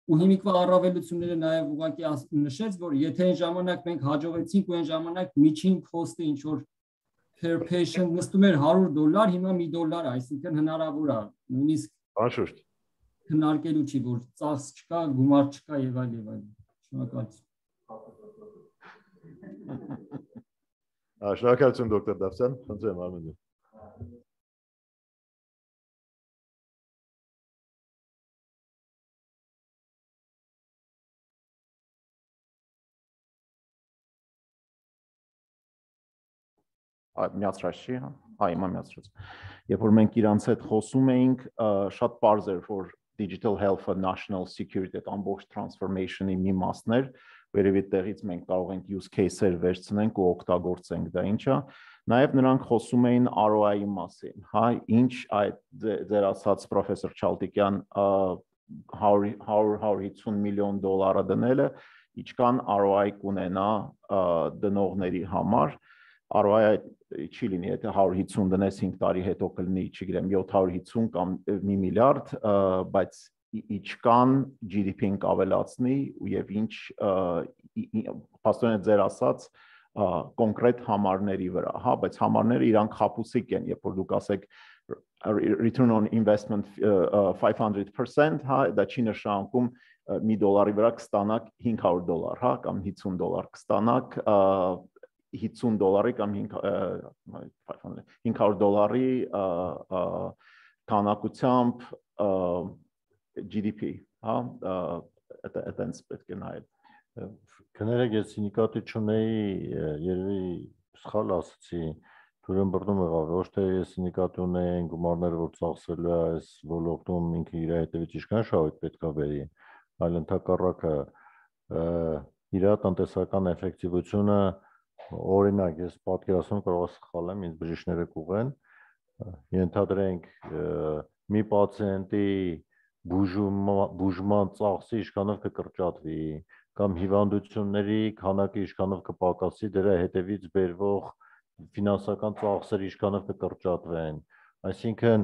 Ու հիմիկվա առավելությունները նաև ուղղակի նշեց, որ եթե այն ժամանակ մենք հաջողեցինք ու այն ժամանակ միջին cost-ը ինչ որ per patient նստում էր հարյուր դոլար, հիմա մի դոլար, այսինքն հնարավոր է նույնիսկ Անշուշտ քննարկելու չի, որ ծախս չկա, գումար չկա եւ այլ եւ այլ։ Շնորհակալություն։ Շնորհակալություն դոկտոր Դավթյան, խնդրեմ Արմեն։ Միացրած չի, հա։ Հա, հիմա միացրեց։ Երբ որ մենք իրանց հետ խոսում էինք, շատ པարզ էր, որ digital health-ը national security ամբողջ transformation-ի մի մասն էր, վերևի տեղից մենք կարող ենք use case-եր վերցնենք ու օգտագործենք, դա ինչ է։ Նաև նրանք խոսում էին R O I-ի մասին, հա, ինչ այդ ձեր ասած պրոֆեսոր Չալտիկյան հարյուր հիսուն միլիոն դոլարը դնելը, ինչքան R O I կունենա դնողների համար։ R O I չի լինի, եթե հարյուր հիսուն դնես հինգ տարի հետո կլինի, չգիտեմ, յոթ հարյուր հիսուն կամ մի միլիարդ, բայց ինչքան G D P-ն կավելացնի եւ ինչ փաստորեն ձեր ասած կոնկրետ համարների վրա, հա, բայց համարները իրանք խապուսիկ են, երբ որ դուք ասեք return on investment five hundred percent, հա, դա չի նշանակում մի դոլարի վրա կստանաք հինգ հարյուր դոլար, հա, կամ հիսուն դոլար կստանաք հիսուն դոլարի կամ հինգ հարյուր դոլարի քանակությամբ G D P, հա, այդտենց պետք է նայել։ Կներեք, ես նկատի չունեի, երևի սխալ ասացի, դուրն բռնում եղավ, ոչ թե ես նկատի ունեի գումարները, որ ծախսելու է այս ոլորտում ինքը իր հետևից ինչքան շահույթ պետք է բերի, այլ ընդհակառակը իր տնտեսական էֆեկտիվությունը, օրինակ, ես պատկերացնում կարող եմ սխալ եմ, ինձ բժիշկները կուղեն, ենթադրենք մի պացիենտի բուժման ծախսի ինչքանով կկրճատվի, կամ հիվանդությունների քանակը ինչքանով կպակասի, դրա հետևից բերվող ֆինանսական ծախսերը ինչքանով կկրճատվեն, այսինքն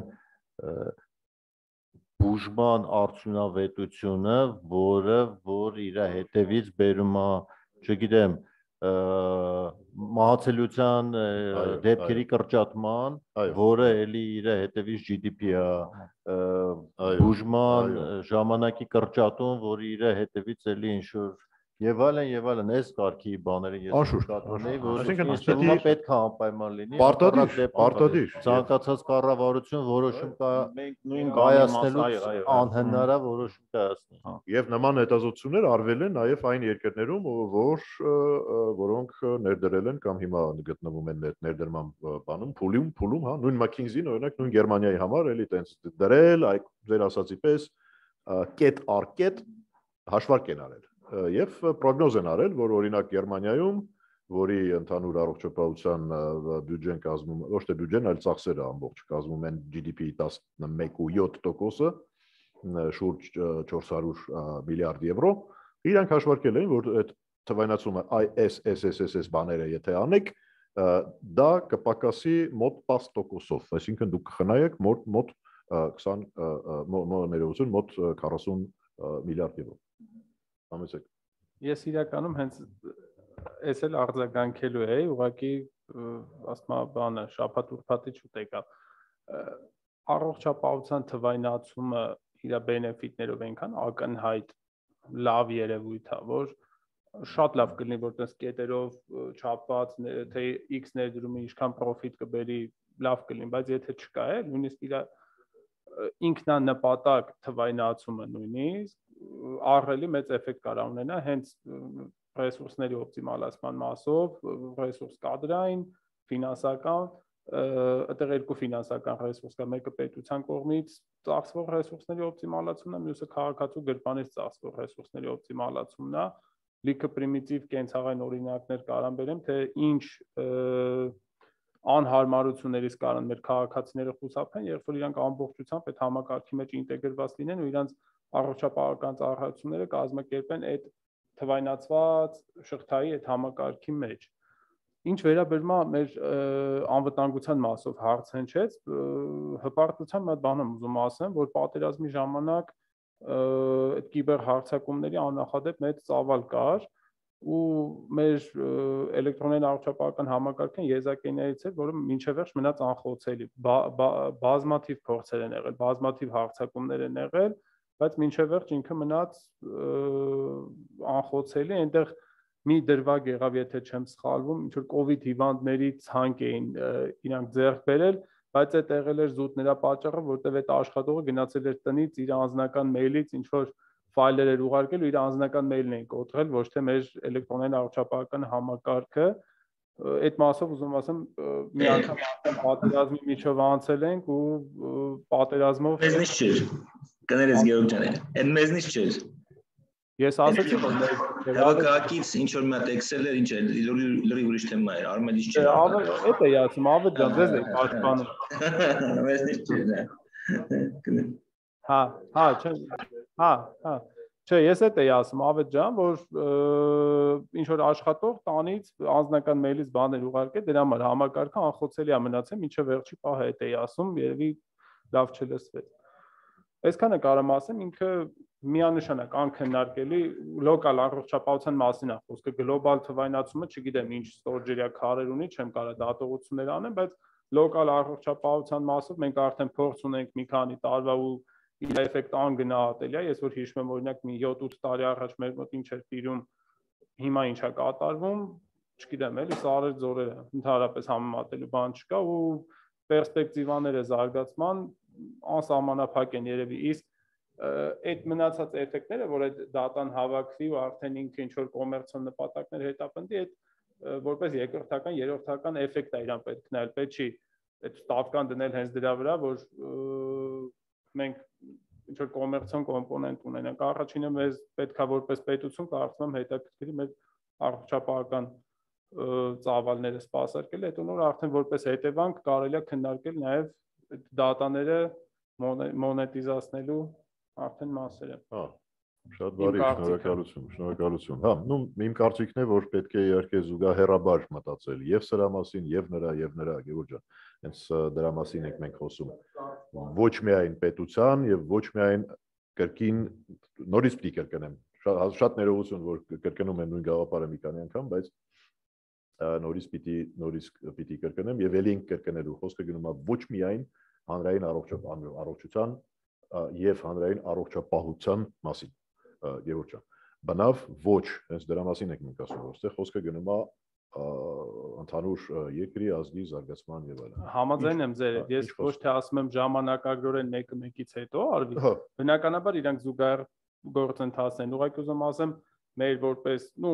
բուժման արդյունավետությունը, որը որ իր հետևից բերում է, չգիտեմ, մահացելիության դեպքերի կրճատման, որը էլի իր հետևից G D P-ը, բուժման ժամանակի կրճատում, որը իր հետևից էլի ինչ-որ եւ այլն եւ այլն, այս կարգի բաները ես կատոնեի, որ ինստիտուտը պետք է անպայման լինի, պարտադիր, պարտադիր, ցանկացած կառավարություն որոշում կա նույն կայացնելու անհնար է որոշում կայացնել։ Եվ նման հետազոտություններ արվել են նաև այն երկրներում, որ որոնք ներդրել են կամ հիմա գտնվում են ներդրման բանում, փուլում, փուլում, հա, նույն McKinsey-ն օրինակ նույն Գերմանիայի համար էլի տենց դրել, այ ձեր ասացի պես կետ առ կետ հաշվարկ են արել եւ պրոգնոզ են արել, որ օրինակ Գերմանիայում, որի ընդհանուր առողջապահության բյուջեն կազմում, ոչ թե բյուջեն, այլ ծախսերը ամբողջ կազմում են G D P-ի տասնմեկ կόμμα յոթ տոկոսը, շուրջ չորս հարյուր միլիարդ եվրո, իրանք հաշվարկել են, որ այդ թվայնացումը I S S S S S բաները եթե անեք, դա կպակասի մոտ տասը տոկոսով, այսինքն դուք կխնայեք մոտ մոտ քսան ներողություն, մոտ քառասուն միլիարդ եվրո։ Համեցեք։ Ես իրականում հենց ես էլ արձագանքելու էի, ուղղակի ասում եմ բանը շաբաթ ուրբաթի չուտեկա։ Առողջապահության թվայնացումը իր բենեֆիտներով այնքան ակնհայտ լավ երևույթ է, որ շատ լավ կլինի, որ տես կետերով չափված, թե X ներդրումը ինչքան պրոֆիտ կբերի, լավ կլինի, բայց եթե չկա է, նույնիսկ իր ինքնանպատակ թվայնացումը նույնիսկ ահռելի մեծ էֆեկտ կարող ունենա հենց ռեսուրսների օպտիմալացման մասով, ռեսուրս կադրային, ֆինանսական, այդտեղ երկու ֆինանսական ռեսուրս կա, մեկը պետության կողմից ծախսվող ռեսուրսների օպտիմալացումն է, մյուսը քաղաքացու գրպանից ծախսվող ռեսուրսների օպտիմալացումն է, լիքը պրիմիտիվ կենցաղային օրինակներ կարամ բերեմ, թե ինչ անհարմարություններից կարան մեր քաղաքացիները խուսափեն, երբ որ իրանք ամբողջությամբ այդ համակարգի մեջ ինտեգրված լինեն ու իրանք առողջապահական ծառայությունները կազմակերպեն այդ թվայնացված շղթայի այդ համակարգի մեջ։ Ինչ վերաբերում է մեր անվտանգության մասով հարց հնչեց, հպարտությամբ մի հատ բան եմ ուզում ասեմ, որ պատերազմի ժամանակ այդ կիբեր հարձակումների աննախադեպ մեծ ծավալ կար ու մեր էլեկտրոնային առողջապահական համակարգն եզակիներից էր, որը մինչև վերջ մնաց անխոցելի, բազմաթիվ փորձեր են եղել, բազմաթիվ հարձակումներ են եղել, բայց մինչև վերջ ինքը մնաց անխոցելի, այնտեղ մի դրվագ եղավ, եթե չեմ սխալվում, ինչ որ կովիդ հիվանդների ցանկ էին իրանք ձեռք բերել, բայց այդ եղել էր զուտ նրա պատճառը, որտեղ այդ աշխատողը գնացել էր տնից իր անձնական մեյլից ինչ որ ֆայլեր էր ուղարկել ու իր անձնական մեյլն էին կոտրել, ոչ թե մեր էլեկտրոնային առողջապահական համակարգը, այդ մասով ուզում ասեմ մի անգամ պատերազմի միջով անցել ենք ու պատերազմով մեզնից չէր կներես Գեորգ ջան այն մեզնից չէր ես ասացի որ հավաքակից ինչ որ մի հատ Excel էր ինչ է լրի ուրիշ թեմա էր արմելից չէր այդ է ասում Ավետ ջան ձեզ եք պաշտպանում մեզնից չէր հա հա չէ հա հա Չէ, ես էդ էի ասում Ավետ ջան, որ ինչ որ աշխատող տանից անձնական մեյլից բաներ ուղարկե, դրա համար համակարգը անխոցելի է մնացել, մինչև վերջի պահը էդ էի ասում, երևի լավ չլսվեց։ Այսքանը կարամ ասեմ, ինքը միանշանակ անքննարկելի լոկալ առողջապահության մասին է խոսքը, գլոբալ թվայնացումը, չգիտեմ ինչ ստորջերյա քարեր ունի, չեմ կարող դատողություններ անեմ, բայց լոկալ առողջապահության մասով մենք արդեն փորձ ունենք մի քանի տարվա ու իր էֆեկտ անգնահատելի է, ես որ հիշում եմ օրինակ մի յոթ-ութ տարի առաջ մեր մոտ ինչ էր տիրում, հիմա ինչ է կատարվում, չգիտեմ, էլի սարեր ձորերը, ընդհանրապես համեմատելու բան չկա ու պերսպեկտիվաները զարգացման անսահմանափակ են երևի, իսկ այդ մնացած էֆեկտները, որ այդ դատան հավաքվի ու արդեն ինքը ինչ որ կոմերցիոն նպատակներ հետապնդի, այդ որպես երկրորդական, երրորդական էֆեկտ է իրան պետք նայել, պետք չի այդ ստավկան դնել հենց դրա վրա, որ մենք ինչ որ կոմերցիոն կոմպոնենտ ունենանք, առաջինը մեզ պետքա որպես պետություն կարծում եմ հետաքրքրի մեր առողջապահական ծավալները սպասարկել, հետո նոր արդեն որպես հետևանք կարելի է քննարկել նաև դատաները մոնետիզացնելու արդեն մասերը։ Հա, շատ բարի, շնորհակալություն, շնորհակալություն։ Հա, նու իմ կարծիքն է, որ պետք է իհարկե զուգահեռաբար մտածել եւ սրա մասին, եւ նրա, եւ նրա Գևորգ ջան։ Հենց դրա մասին ենք մենք խոսում։ Ոչ միայն պետության եւ ոչ միայն կրկին նորից պիտի կրկնեմ։ Շատ ներողություն, որ կրկնում եմ նույն գաղափարը մի քանի անգամ, բայց նորից պիտի նորից պիտի կրկնեմ եւ ելի ենք կրկնելու։ Խոսքը գնում է ոչ միայն հանրային առողջության եւ հանրային առողջապահության մասին, Գևորգ ջան։ Բնավ ոչ, հենց դրա մասին ենք մենք ասում, որտեղ խոսքը գնում է ընդհանուր երկրի ազգի զարգացման եւ այլն։ Համաձայն եմ ձեր հետ, ես ոչ թե ասում եմ ժամանակագրորեն մեկը մեկից հետո արվի, բնականաբար իրանք զուգահեռ գործընթաց են, ուղղակի ուզում ասեմ մեր որպես, ну,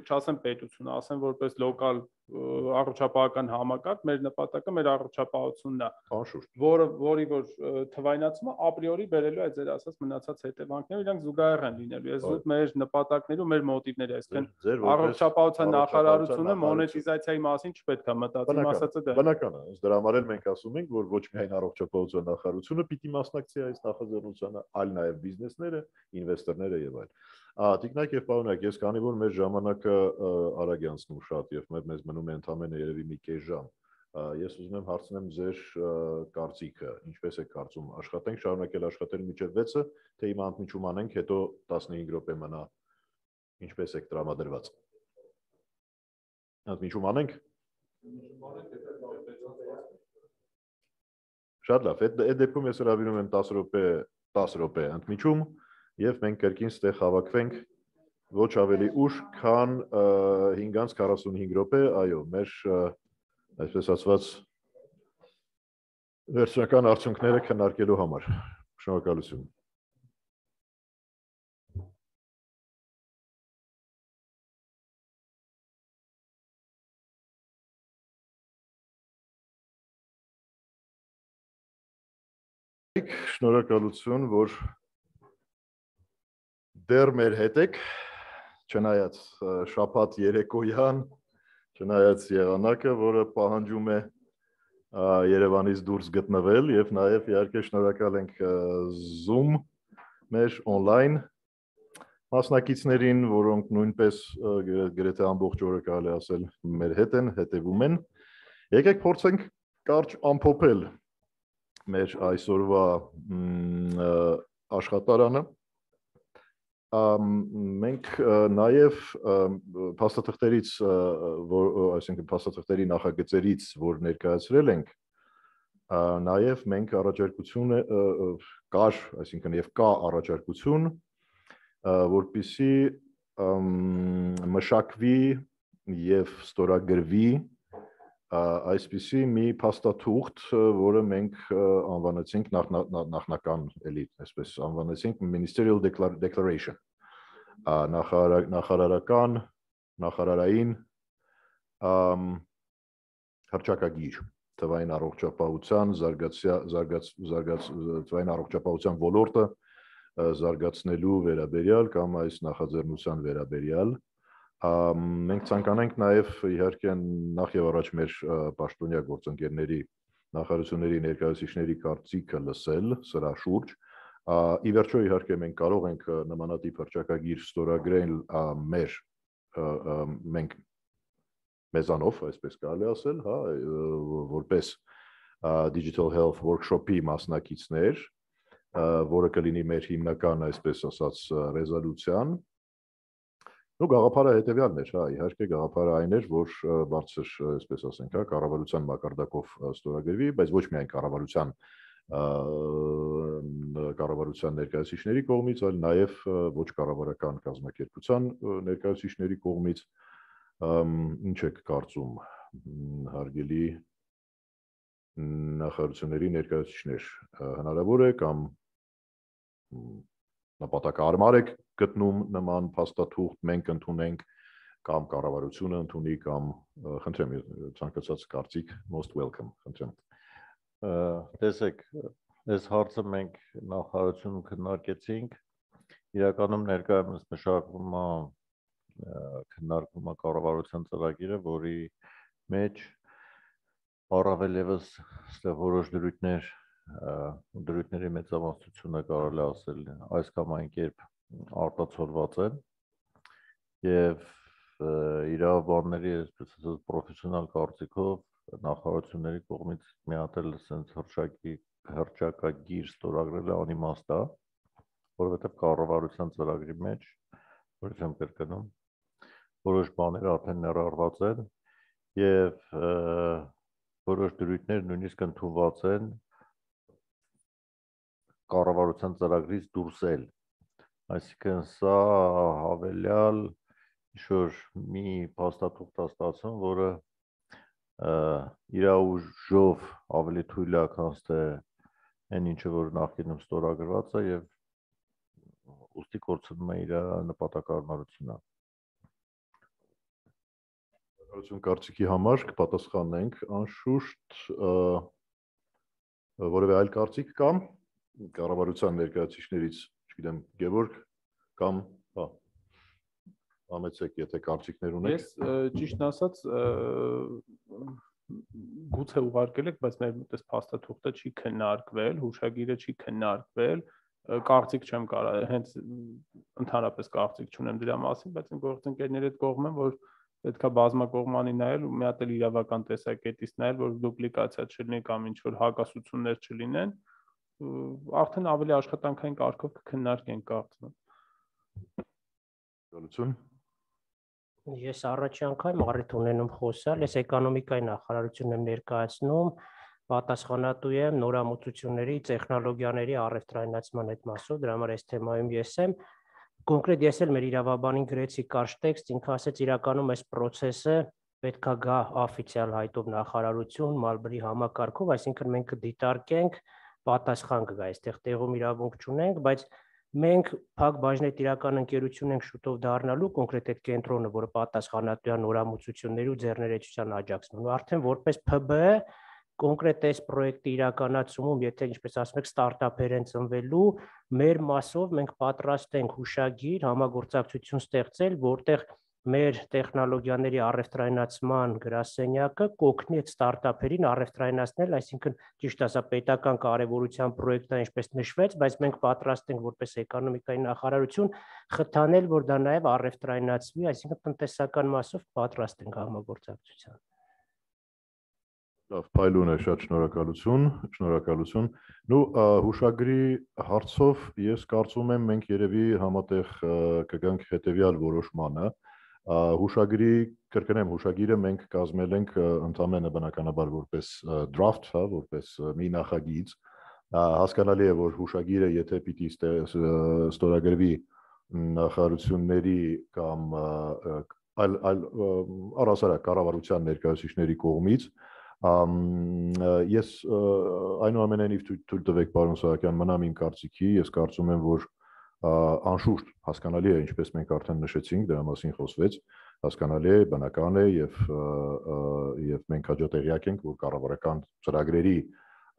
չասեմ պետություն, ասեմ որպես լոկալ առողջապահական համակարգ, մեր նպատակը մեր առողջապահությունն է, որը որի որ թվայնացումը ապրիորի բերելու է ձեր ասած մնացած հետևանքները, իրանք զուգահեռ են լինելու։ Ես զուտ մեր նպատակները ու մեր մոտիվները, այսինքն առողջապահության նախարարությունը մոնետիզացիայի մասին չպետք է մտածի, իմ ասածը դա է։ Բնական է, ըստ դրա համար էլ մենք ասում ենք, որ ոչ միայն առողջապահության նախարարությունը պիտի մասնակցի այս նախաձեռնությանը, այլ նաև բիզնեսները, ինվեստորները եւ այլն։ Տիկնակ եւ պարոնակ, ես քանի որ մեր ժամանակը արագ է անցնում շատ եւ մեզ մնում է ընդամենը երևի մի կես ժամ, ես ուզում եմ հարցնեմ ձեր կարծիքը, ինչպես եք կարծում, աշխատենք շարունակել աշխատել մինչև վեցը, թե հիմա ընդմիջում անենք, հետո տասնհինգ րոպե մնա, ինչպես եք տրամադրված։ Ընդմիջում անենք։ Շատ լավ, այդ դեպքում ես հրավիրում եմ տասը րոպե, տասը րոպե ընդմիջում եւ մենք կրկին ստեղ հավաքվենք ոչ ավելի ուշ, քան հինգ քառասունհինգ րոպե, այո, մեր այսպես ասված վերջնական արդյունքները քննարկելու համար։ Շնորհակալություն։ Շնորհակալություն, որ դեռ մեր հետ եք, չնայած շաբաթ երեկոյան, չնայած եղանակը, որը պահանջում է Երևանից դուրս գտնվել եւ նաեւ իհարկե շնորհակալ ենք Zoom մեր on-line մասնակիցներին, որոնք նույնպես գրեթե ամբողջ օրը կարելի ասել մեր հետ են, հետևում են։ Եկեք փորձենք կարճ ամփոփել մեր այսօրվա աշխատարանը։ Մենք նաև փաստաթղթերից, այսինքն փաստաթղթերի նախագծերից, որ ներկայացրել ենք, նաև մենք առաջարկություն կար, այսինքն եւ կա առաջարկություն, որպեսզի մշակվի եւ ստորագրվի այսպիսի մի փաստաթուղթ, որը մենք անվանեցինք նախնական էլի, այսպես անվանեցինք Ministerial Declaration, նախարարական, նախարարային հռչակագիր թվային առողջապահության թվային առողջապահության ոլորտը զարգացնելու վերաբերյալ կամ այս նախաձեռնության վերաբերյալ մենք ցանկանանք նաև իհարկե նախ եւ առաջ մեր պաշտոնյա գործընկերների նախարարությունների ներկայացուցիչների կարծիքը լսել սրա շուրջ ի վերջո իհարկե մենք կարող ենք նմանատիպ հռչակագիր ստորագրել մեր մենք մեզանով, այսպես կարելի ասել, հա, որպես Digital Health Workshop-ի մասնակիցներ, որը կլինի մեր հիմնական, այսպես ասած, ռեզոլյուցիան։ Ու գաղափարը հետևյալն էր, հա, իհարկե գաղափարը այն էր, որ բարձր, այսպես ասենք, հա, կառավարության մակարդակով ստորագրվի, բայց ոչ միայն կառավարության կառավարության ներկայացուցիչների կողմից, այլ նաև ոչ կառավարական կազմակերպության ներկայացուցիչների կողմից ինչ եք կարծում հարգելի նախարարությունների ներկայացուցիչներ հնարավոր է կամ նպատակահարմար եք գտնում նման փաստաթուղթ մենք ընդունենք կամ կառավարությունը ընդունի կամ խնդրեմ ցանկացած կարծիք most welcome խնդրեմ տեսեք այս հարցը մենք նախարարությունում քննարկեցինք իրականում ներկայումս մշակվում է քննարկվում է կառավարության ծրագիրը, որի մեջ առավել ևս ստեղ որոշ դրույթներ դրույթների մեծամասնությունը կարելի ասել այս կամ այն կերպ արտացոլված են եւ իրավաբանների այսպես ասած պրոֆեսիոնալ կարծիքով նախարարությունների կողմից մի հատ էլ sense հրճակի հրճակագիր ստորագրելը անիմաստ է, որովհետեւ կառավարության ծրագրի մեջ որից եմ կրկնում որոշ բաներ արդեն ներառված են եւ որոշ դրույթներ նույնիսկ ընդունված են կառավարության ծրագրից դուրս էլ այսինքն սա հավելյալ ինչ-որ մի փաստաթուղթ է ստացվում, որը իր ուժով ավելի թույլ է, քան թե այն ինչը որ նախկինում ստորագրված է եւ ուստի կորցնում է իր նպատակահարմարությունը Կառավարություն կարծիքի համար կպատասխանենք անշուշտ որևէ այլ կարծիք կամ կառավարության ներկայացուցիչներից, չգիտեմ, Գևորգ կամ հա համեցեք, եթե կարծիքներ ունեք։ Ես ճիշտն ասած գուցե ուղարկել եք, բայց մեր մոտ փաստաթուղթը չի քննարկվել, հուշագիրը չի քննարկվել, կարծիք չեմ կարող, հենց ընդհանրապես կարծիք չունեմ դրա մասին, բայց գործընկերների հետ կողմ եմ, որ պետք է բազմակողմանի նայել ու մի հատ էլ իրավական տեսակետից նայել, որ դուպլիկացիա չլինի կամ ինչ որ հակասություններ չլինեն, արդեն ավելի աշխատանքային կարգով կքննարկենք կարծում եմ։ Գալություն Ես առաջի անգամ առիթ ունենում խոսալ, ես էկոնոմիկայի նախարարությունն եմ ներկայացնում, պատասխանատու եմ նորամուծությունների, տեխնոլոգիաների առևտրայնացման այդ մասով, դրա համար այս թեմայում ես եմ Կոնկրետ ես էլ մեր իրավաբանին գրեցի կարճ տեքստ, ինքը ասեց իրականում այս process-ը պետքա գա օֆիցիալ հայտով նախարարություն, Մալբրի համակարգով, այսինքն մենք կդիտարկենք, պատասխան կգա, այստեղ տեղում իրավունք չունենք, բայց մենք փակ բաժնետիրական ընկերություն ենք շուտով դառնալու, կոնկրետ այդ կենտրոնը, որը պատասխանատու է նորամուծությունների ու ձեռներեցության աջակցման, ու արդեն որպես Փ B կոնկրետ այս պրոյեկտի իրականացումում, եթե ինչպես ասում եք, ստարտափեր են ծնվելու, մեր մասով մենք պատրաստ ենք հուշագիր, համագործակցություն ստեղծել, որտեղ մեր տեխնոլոգիաների առևտրայնացման գրասենյակը կօգնի այդ ստարտափերին առևտրայնացնել, այսինքն ճիշտ ասա պետական կարևորության պրոյեկտ է, ինչպես նշվեց, բայց մենք պատրաստ ենք որպես էկոնոմիկայի նախարարություն խթանել, որ դա նաև առևտրայնացվի, այսինքն տնտեսական մասով պատրաստ ենք համագործակցության։ Լավ, փայլուն է, շատ շնորհակալություն, շնորհակալություն։ Նու հուշագրի հարցով ես կարծում եմ մենք երևի համատեղ կգանք հետևյալ որոշմանը։ Հուշագրի, կրկնեմ, հուշագիրը մենք կազմել ենք ընդամենը բնականաբար որպես draft, հա, որպես մի նախագիծ։ Հասկանալի է, որ հուշագիրը, եթե պիտի ստորագրվի նախարարությունների կամ այլ այլ առհասարակ կառավարության ներկայացուցիչների կողմից ես այնուամենայնիվ թույլ տվեք պարոն Սահակյան մնամ իմ կարծիքի, ես կարծում եմ, որ անշուշտ հասկանալի է, ինչպես մենք արդեն նշեցինք, դրա մասին խոսվեց, հասկանալի է, բնական է եւ եւ մենք հաջողտեղյակ ենք, որ կառավարական ծրագրերի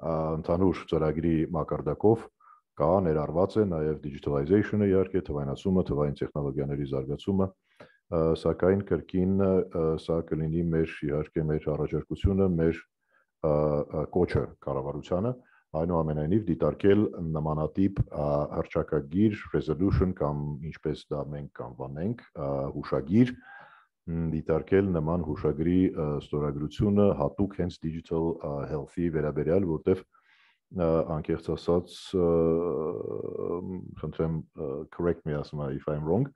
ընդհանուր ծրագրի մակարդակով կա ներառված է նաեւ digitalization-ը, իհարկե թվայնացումը, թվային տեխնոլոգիաների զարգացումը, սակայն կրկին սա կլինի մեր իհարկե մեր առաջարկությունը, մեր կոչը կառավարությանը, այնուամենայնիվ դիտարկել նմանատիպ հռչակագիր resolution կամ ինչպես դա մենք կանվանենք, հուշագիր դիտարկել նման հուշագրի ստորագրությունը հատուկ հենց digital health-ի վերաբերյալ, որտեղ անկեղծ ասած խնդրեմ correct me ասում if I'm wrong,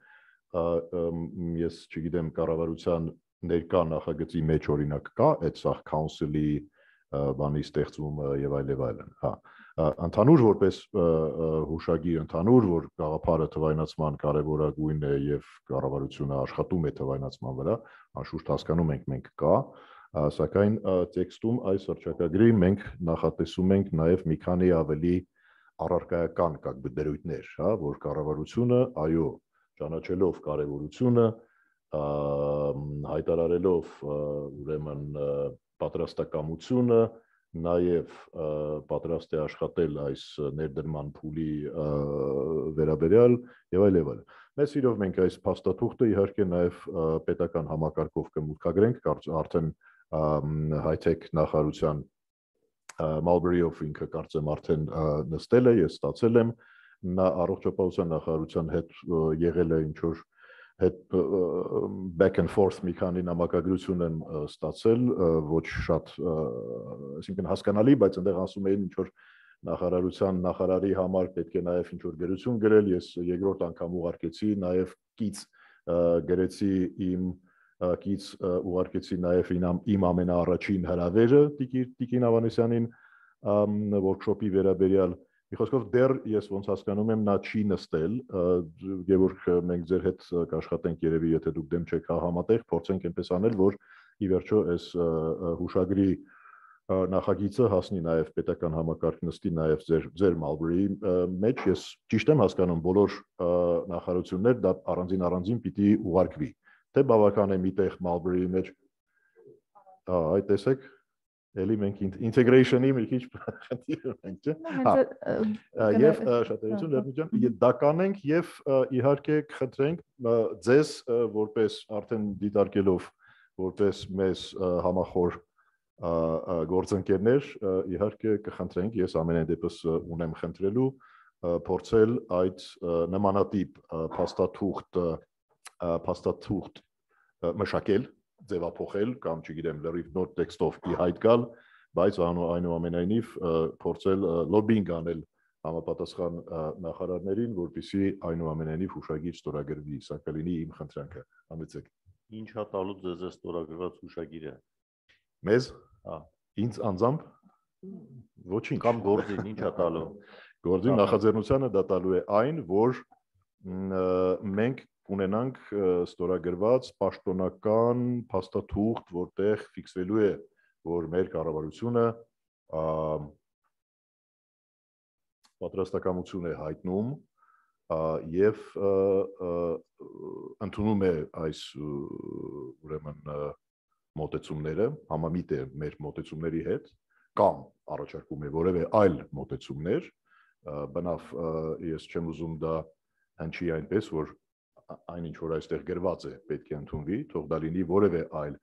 ես չգիտեմ կառավարության ներկա նախագծի մեջ օրինակ կա այդ սա council-ի բանի ստեղծումը եւ այլ եւ այլն, հա ընդհանուր որպես հուշագիր ընդհանուր որ գաղափարը թվայնացման կարևորագույն է եւ կառավարությունը աշխատում է թվայնացման վրա, անշուշտ հասկանում ենք մենք կա, սակայն տեքստում այս հռչակագրի մենք նախատեսում ենք նաեւ մի քանի ավելի առարկայական как бы դերույթներ, հա, որ կառավարությունը, այո, ճանաչելով կարևորությունը, հայտարարելով ուրեմն պատրաստակամությունը նաև պատրաստ է աշխատել այս ներդրման փուլի վերաբերյալ եւ այլ եւ այլ։ Մեծ սիրով մենք այս փաստաթուղթը իհարկե նաև պետական համակարգով կմուտքագրենք, արդեն high-tech նախարարության Marlborough-ով ինքը կարծեմ արդեն նստել է, ես ստացել եմ, նա առողջապահության նախարարության հետ եղել է ինչ որ հետ back and forth մի քանի նամակագրություն են ստացել, ոչ շատ, այսինքն հասկանալի, բայց այնտեղ ասում էին ինչ որ նախարարության նախարարի համար պետք է նաև ինչ որ գրություն գրել, ես երկրորդ անգամ ուղարկեցի, նաև կից գրեցի իմ կից ուղարկեցի նաև իմ ամենաառաջին հրավերը Տիկին Ավանեսյանին workshop-ի վերաբերյալ Մի խոսքով դեռ ես ոնց հասկանում եմ նա չի նստել, Գևորգ մենք ձեր հետ կաշխատենք երևի եթե դուք դեմ չեք համատեղ, փորձենք այնպես անել, որ ի վերջո այս հուշագրի նախագիծը հասնի նաև պետական համակարգ նստի նաև ձեր ձեր Marlborough-ի մեջ, ես ճիշտ եմ հասկանում, բոլոր նախարարություններ դա առանձին առանձին պիտի ուղարկվի, թե բավական է միտեղ Marlborough-ի մեջ, հա, այդ տեսեք Էլի մենք integration-ի մի քիչ խնդիր ունենք, չէ՞։ Հա։ Եվ շատերություն լրնության դա կանենք եւ իհարկե կխնդրենք ձեզ որպես արդեն դիտարկելով որպես մեզ համախոր գործընկերներ իհարկե կխնդրենք ես ամենայն դեպս ունեմ խնդրելու փորձել այդ նմանատիպ փաստաթուղթ փաստաթուղթ մշակել ձևափոխել կամ չգիտեմ լրիվ նոր տեքստով ի հայտ գալ, բայց այնուամենայնիվ փորձել լոբինգ անել համապատասխան նախարարներին, որպեսզի այնուամենայնիվ հուշագիր ստորագրվի, սա կլինի իմ խնդրանքը, համեցեք։ Ինչ է տալու ձեզ այս ստորագրված հուշագիրը։ Մեզ, հա, ինձ անձամբ ոչինչ կամ գործին ինչ է տալու։ Գործին նախաձեռնությանը դա տալու է այն, որ մենք ունենանք ստորագրված պաշտոնական փաստաթուղթ, որտեղ ֆիքսվելու է, որ մեր կառավարությունը պատրաստակամություն է հայտնում եւ ընդունում է այս ուրեմն մոտեցումները, համամիտ է մեր մոտեցումների հետ, կամ առաջարկում է որևէ այլ մոտեցումներ, բնավ ես չեմ ուզում դա հնչի այնպես, որ այն ինչ որ այստեղ գրված է պետք է ընդունվի, թող դա լինի որևէ այլ,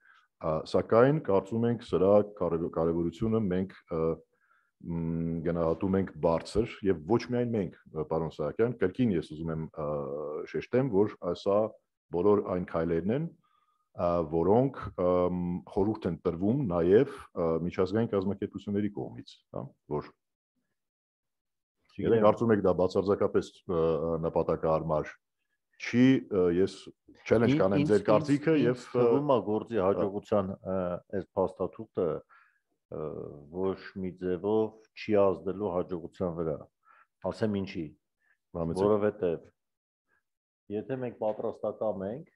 սակայն կարծում ենք սրա կարևորությունը մենք գնահատում ենք բարձր եւ ոչ միայն մենք, պարոն Սահակյան, կրկին ես ուզում եմ շեշտեմ, որ սա բոլոր այն քայլերն են, որոնք խորհուրդ են տրվում նաեւ միջազգային կազմակերպությունների կողմից, հա, որ Եթե կարծում եք դա բացարձակապես նպատակահարմար չի, ես challenge կանեմ ձեր կարծիքը եւ թվում է գործի հաջողության այս փաստաթուղթը ոչ մի ձևով չի ազդելու հաջողության վրա։ Ասեմ ինչի, որովհետեւ եթե մենք պատրաստակամ ենք,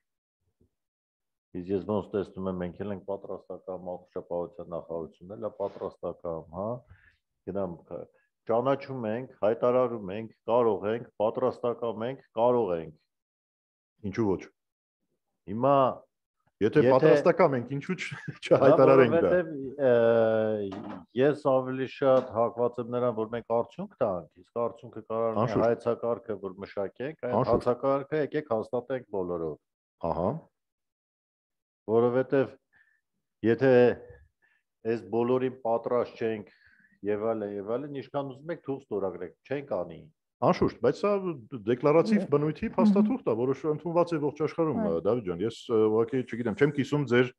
իսկ ես ոնց տեսնում եմ մենք էլ ենք պատրաստակամ առողջապահության նախարարությունն էլ է պատրաստակամ, հա, գնամ ճանաչում ենք, հայտարարում ենք, կարող ենք, պատրաստակամ ենք, կարող ենք Ինչու ոչ։ Հիմա Եթե պատրաստական ենք, ինչու՞ չհայտարարենք դա։ Որովհետև ես ավելի շատ հակված եմ նրան, որ մենք արդյունք տանք, իսկ արդյունքը կարող է հայեցակարգը, որ մշակենք, այդ հայեցակարգը եկեք հաստատենք բոլորով։ Ահա։ Որովհետև եթե այս բոլորին պատրաստ չենք եւ այլն եւ այլն, ինչքան ուզում եք թող ստորագրենք, չենք անի։ Անշուշտ, բայց սա դեկլարատիվ բնույթի փաստաթուղթ է, որը ընդունված է ողջ աշխարհում, Դավիթ ջան, ես ուղղակի չգիտեմ, չեմ կիսում ձեր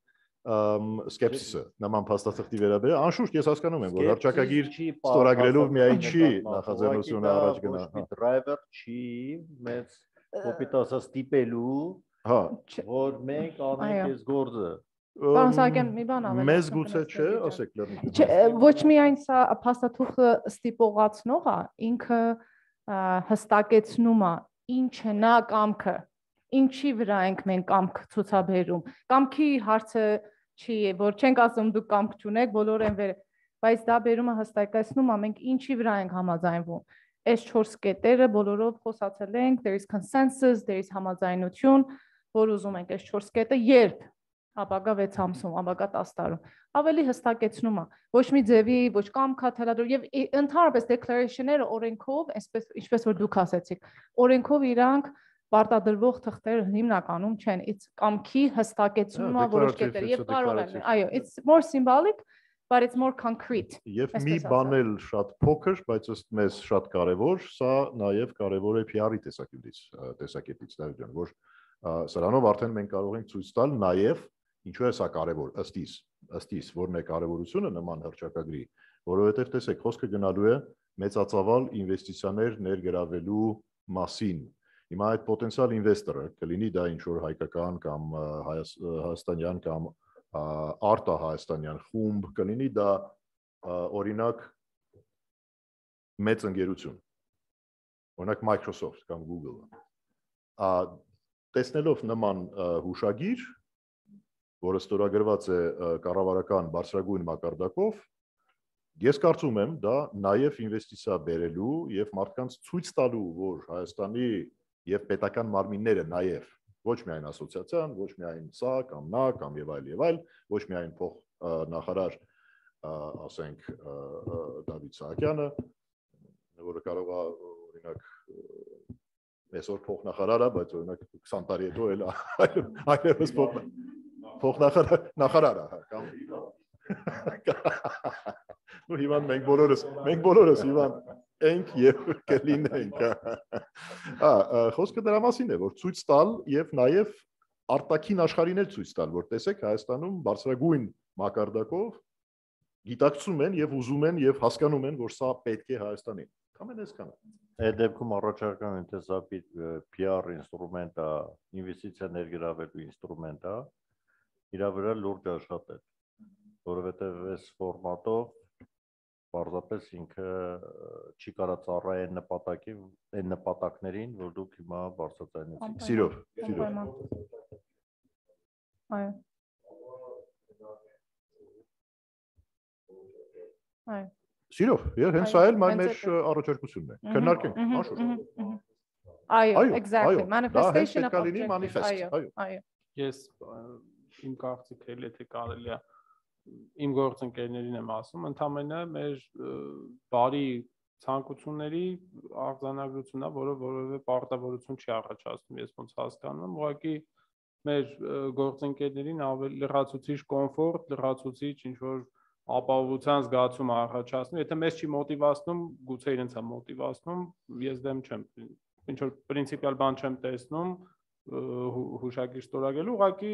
սկեպսիսը նման փաստաթղթի վերաբերյալ, անշուշտ ես հասկանում եմ, որ հռչակագիր ստորագրելու միայն չի նախաձեռնությունը առաջ գնա։ Driver չի մեծ կոպիտասա ստիպելու, հա, որ մենք անենք այս գործը։ Պարոն Սահակյան, մի բան ավելի։ Մեզ գուցե չէ, ասեք լրիվ։ Ոչ միայն սա փաստաթուղթը ստիպողացնող է, ինքը հստակեցնում է ինչ է նա կամքը, ինչի վրա ենք մենք կամք ցուցաբերում։ Կամքի հարցը չի, որ չենք ասում դուք կամք չունեք, բոլորը են վեր, բայց դա բերումը հստակեցնում է մենք ինչի վրա ենք համաձայնվում։ Այս չորս կետերը բոլորով խոսացել ենք, there is consensus, there is համաձայնություն, որ ուզում ենք այս չորս կետը երբ ապագա վեց ամսում, ապագա տասը տարում, ավելի հստակեցնում է, ոչ մի ձևի, ոչ կամքա թելադրում եւ ընդհանրապես declaration-ները օրենքով, այսպես ինչպես որ դուք ասեցիք, օրենքով իրանք պարտադրվող թղթեր հիմնականում չեն, it's կամքի հստակեցումը որոշ կետեր եւ կարող են, այո, it's more symbolic, but it's more concrete։ Եվ մի բան էլ շատ փոքր, բայց ըստ մեզ շատ կարեւոր, սա նաեւ կարեւոր է P R-ի տեսակետից, տեսակետից, Դավիթ ջան, որ սրանով արդեն մենք կարող ենք ցույց տալ նաեւ ինչու է սա կարևոր, ըստ իս, ըստ իս, որն է կարևորությունը նման հռչակագրի, որովհետև տեսեք, խոսքը գնալու է մեծածավալ ինվեստիցիաներ ներգրավելու մասին։ Հիմա այդ պոտենցիալ ինվեստորը կլինի դա ինչ որ հայկական կամ հայաստանյան կամ արտահայաստանյան խումբ, կլինի դա օրինակ մեծ ընկերություն, օրինակ Microsoft կամ Google-ը։ Տեսնելով նման հուշագիր, որը ստորագրված է կառավարական բարձրագույն մակարդակով, ես կարծում եմ դա նաև ինվեստիցիա բերելու եւ մարդկանց ցույց տալու, որ Հայաստանի եւ պետական մարմինները նաև ոչ միայն ասոցիացիան, ոչ միայն սա կամ նա կամ եւ այլ եւ այլ, ոչ միայն փոխ նախարար, ասենք Դավիթ Սահակյանը, որը կարող է օրինակ այսօր փոխ նախարար է, բայց օրինակ քսան տարի հետո էլ այլևս փոխ փոխնախարար նախարարը կամ ու Իվան մենք բոլորս մենք բոլորս Իվան ենք եւ կլինենք հա խոսքը դրա մասին է որ ցույց տալ եւ նաեւ արտաքին աշխարհին էլ ցույց տալ որ տեսեք Հայաստանում բարձրագույն մակարդակով գիտակցում են եւ ուզում են եւ հասկանում են որ սա պետք է Հայաստանին ամեն այսքանը այդ դեպքում առաջարկում եմ թե սա P R ինստրումենտ է ինվեստիցիա ներգրավելու ինստրումենտ է իր վրա լուրջ աշխատել, որովհետև այս ֆորմատով պարզապես ինքը չի կարա ծառայել այն նպատակի, այն նպատակներին, որ դուք հիմա բարձրացնեցիք։ Սիրով, սիրով։ Այո։ Այո։ Սիրով, եւ հենց սա էլ մեր առաջարկությունն է։ Քննարկենք, անշուշտ։ Այո, exactly, manifestation of manifest, այո, այո։ Ես իմ կարծիքը էլ եթե կարելի է իմ գործընկերներին եմ ասում, ընդամենը մեր բարի ցանկությունների արձանագրությունն է, որը որևէ պարտավորություն չի առաջացնում, ես ոնց հասկանում եմ, ուղղակի մեր գործընկերներին ավելի լրացուցիչ կոմֆորտ, լրացուցիչ ինչ որ ապահովության զգացում առաջացնում, եթե մեզ չի մոտիվացնում, գուցե իրենց է մոտիվացնում, ես դեմ չեմ, ինչ որ պրինցիպիալ բան չեմ տեսնում հուշագիր ստորագրելու, ուղղակի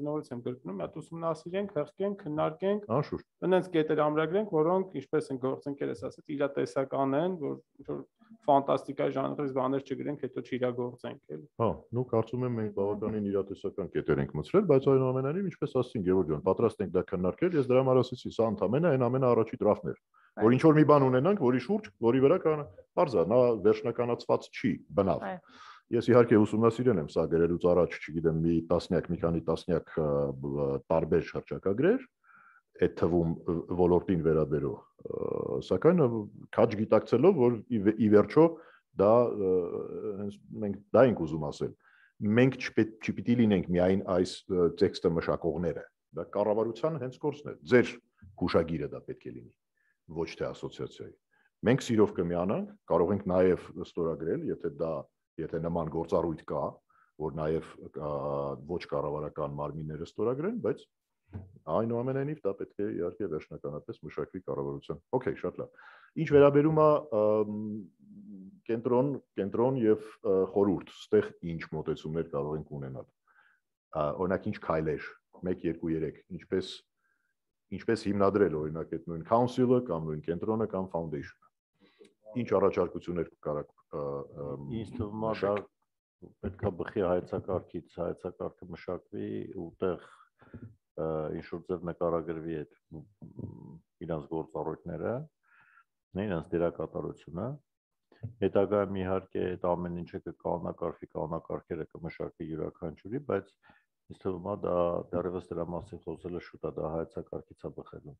նորից եմ կրկնում, հատ ուսումնասիրենք, հղկենք, քննարկենք, անշուշտ, այնպես կետեր ամրագրենք, որոնք, ինչպես են գործընկերս ասած, իրատեսական են, որ ինչ-որ ֆանտաստիկայի ժանրից բաներ չգրենք, հետո չիրագործենք, էլի։ Հա, նու կարծում եմ մենք բավականին իրատեսական կետեր ենք մտցրել, բայց այնուամենայնիվ, ինչպես ասեցին Գևորգ ջան, պատրաստ ենք դա քննարկել, ես դրա համար ասեցի, սա ընդամենը այն ամենաառաջի դրաֆտն էր, որ ինչ որ մի բան ունենանք, որի շուրջ, որի վրա կան, բարձա, նա վերջնականացված չի, բնավ։ Ես իհարկե ուսումնասիրել եմ սա գրելուց առաջ, չգիտեմ, մի տասնյակ, մի քանի տասնյակ տարբեր հռչակագրեր, այդ թվում ոլորտին վերաբերող, սակայն քաջ գիտակցելով, որ ի վերջո դա մենք դա ենք ուզում ասել։ մենք չպիտի լինենք միայն այս տեքստը մշակողները, դա կառավարության հենց գործն է, ձեր հուշագիրը դա պետք է լինի, ոչ թե ասոցիացիայի։ Մենք սիրով կմիանանք, կարող ենք նաև ստորագրել, եթե դա, եթե նման գործառույթ կա, որ նաև ոչ կառավարական մարմինները ստորագրեն, բայց այնուամենայնիվ դա պետք է իհարկե վերջնականապես մշակվի կառավարության։ Okay, շատ լավ։ Ինչ վերաբերում է կենտրոն, կենտրոն եւ խորհուրդ, ստեղ ինչ մոտեցումներ կարող ենք ունենալ։ Օրինակ ինչ քայլեր, մեկ, երկու, երեք, ինչպես ինչպես հիմնադրել օրինակ այդ նույն council-ը կամ նույն կենտրոնը կամ foundation-ը։ Ինչ առաջարկություններ կարաք ինձ թվում է դա պետք է բխի հայեցակարգից, հայեցակարգը մշակվի ուտեղ ինչ որ ձև նկարագրվի այդ իրանց գործառույթները, իրանց դերակատարությունը, հետագայում իհարկե այդ ամեն ինչը կկանոնակարգվի, կանոնակարգերը կմշակվի յուրաքանչյուրի, բայց ինձ թվում է դա դեռևս դրա մասին խոսելը շուտ է, դա հայեցակարգից է բխելու։